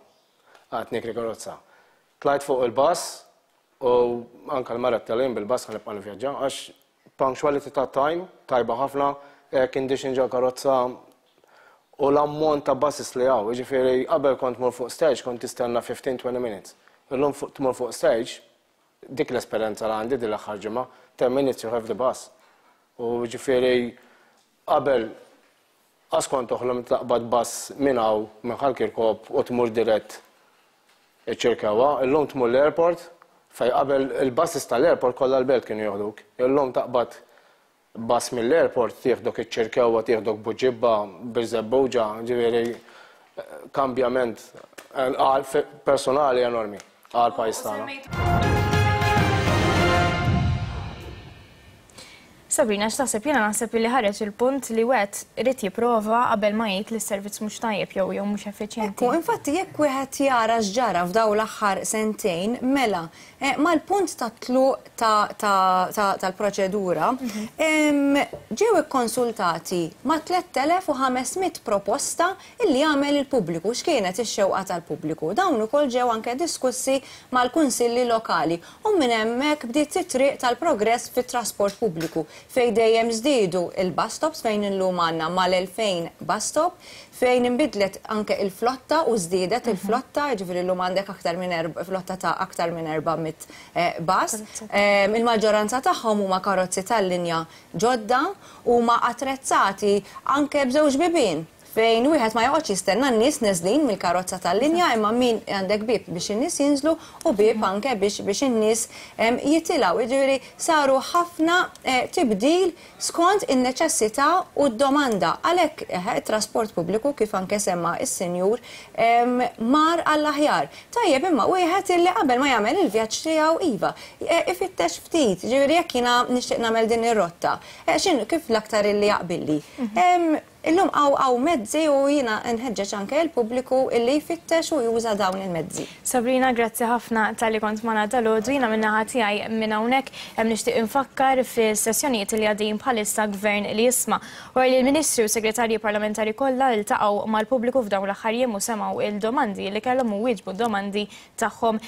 qed nikri karozza. Tlajt fuq il-bus u anke l-mara qed jien bil-bus ħa nibqa' nivvjaġġa għax punctuality ta' time tajba ħafna, air condition ġol karozza u l-ammont ta' buses li hawn, jiġifieri qabel kont tmur fuq stage kont tistenna 15-20 minutes. Illum tmur fuq stage Dik l-esperjenza li għandi din l-aħħar ġimgħa, 10 minutes you have the bus. U ġifieri qabel qas kont toħlom taqbad bus minn hawn minn Ħal Kirkop u tmur dirett iċ-Ċirkewwa, illum tmur l-airport fejn qabel il-buses tal-airport kollha l-Belt kienu joħduk. Illum taqbad Bus mill-airport tieħdok iċ-Ċirkewwa, tieħdok Buġibba, Birżebbuġa, ġifieri kambjament personali enormi għall-pajjiż tagħna. Sabrina, x'taħseb? Jiena naħseb li ħareġ il-punt li wieħed irid jipprova qabel ma jgħid li s-servizz mhux tajjeb jew jew mhux effiċjenti. Ekku, infatti jekk wieħed jara x'ġara f'dawn l-aħħar sentejn, mela Mal-punt tat-tluq tal-proċedura, ġew ikkonsultati ma' 3,500 proposta li għamel il-pubbliku. X'kienet ix-xewqa tal-pubbliku? Dawn ukoll ġew anke diskussi mal-kunsilli lokali u minn hemmhekk bdiet it-triq tal-progress fit-trasport pubbliku fejn dejjem żdiedu l-bus stops fejn illum għandna mal-2,000 bus stop, fejn inbidlet anke il-flotta u żdiedet il-flotta, jiġifieri llum għandek aktar minn flotta ta' aktar minn 400 bus. Il-maġġoranza tagħhom huma karozzi tal-linja ġodda, huma attrezzati anke b'żewġ bibien. fejn wieħed ma joqgħodx jistenna n-nies neżlin mill-karozza tal-linja imma min għandek bieb biex in-nies jinżlu u bieb anke biex biex in-nies jitilgħu. Jiġifieri saru ħafna tibdil skont in-neċessità u d-domanda. Għalhekk it-trasport pubbliku kif anke semma s-sinjur mar għall-aħjar. Tajjeb imma wieħed illi qabel ma jagħmel il-vjaġġ tiegħu iva, ifittex ftit, jiġifieri jekk jiena nixtieq nagħmel din ir-rotta, x'inhu kif l-aktar illi jaqbilli. Illum hawn hawn mezzi u jiena nħeġġeġ anke l-pubbliku illi jfittex u juża dawn il-mezzi. Sabrina, grazzi ħafna talli kont magħna dalgħodu. Jiena min-naħa tiegħi minn hawnhekk nixtieq infakkar fis-sessjonijiet li għaddejjin bħalissa Gvern li Jisma'. Wara li l-Ministri u Segretarji Parlamentari kollha ltaqgħu mal-pubbliku f'dawn l-aħħar jiem u semgħu l-domandi li kellhom u wieġbu d-domandi tagħhom.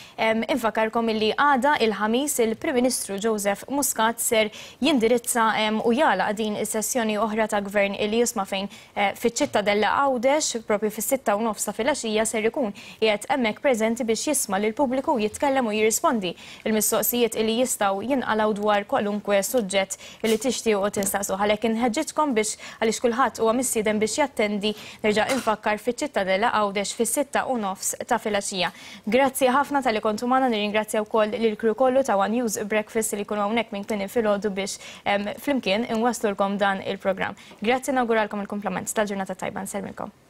Infakkarkom illi għada il-Ħamis il-Prim Ministru Joseph Muscat ser jindirizza u jagħlaq din is-sessjoni oħra ta' Gvern illi jisma' fejn fiċ-Ċittadella Għawdex propju fis-6:30 ta' filgħaxija ser ikun qiegħed hemmhekk preżenti biex jisma' lill-pubbliku jitkellem u jirrispondi l-mistoqsijiet illi jistgħu jinqalgħu dwar kwalunkwe suġġett illi tixtiequ tistaqsuh. Għalhekk inħeġġiġkom biex għaliex kulħadd huwa mistieden biex jattendi nerġa' infakkar fiċ-Ċittadella Għawdex fis-6:30 ta' filgħaxija. Grazzi ħafna talli kontu magħna, nirringrazzja wkoll lill-crew kollu ta' one News Breakfast li jkunu hawnhekk minn kmieni filgħodu biex flimkien inwasslulkom dan il-programm. Grazzi nawguralkom il-kumplament tal-ġurnata tajba. Nsellmilkom.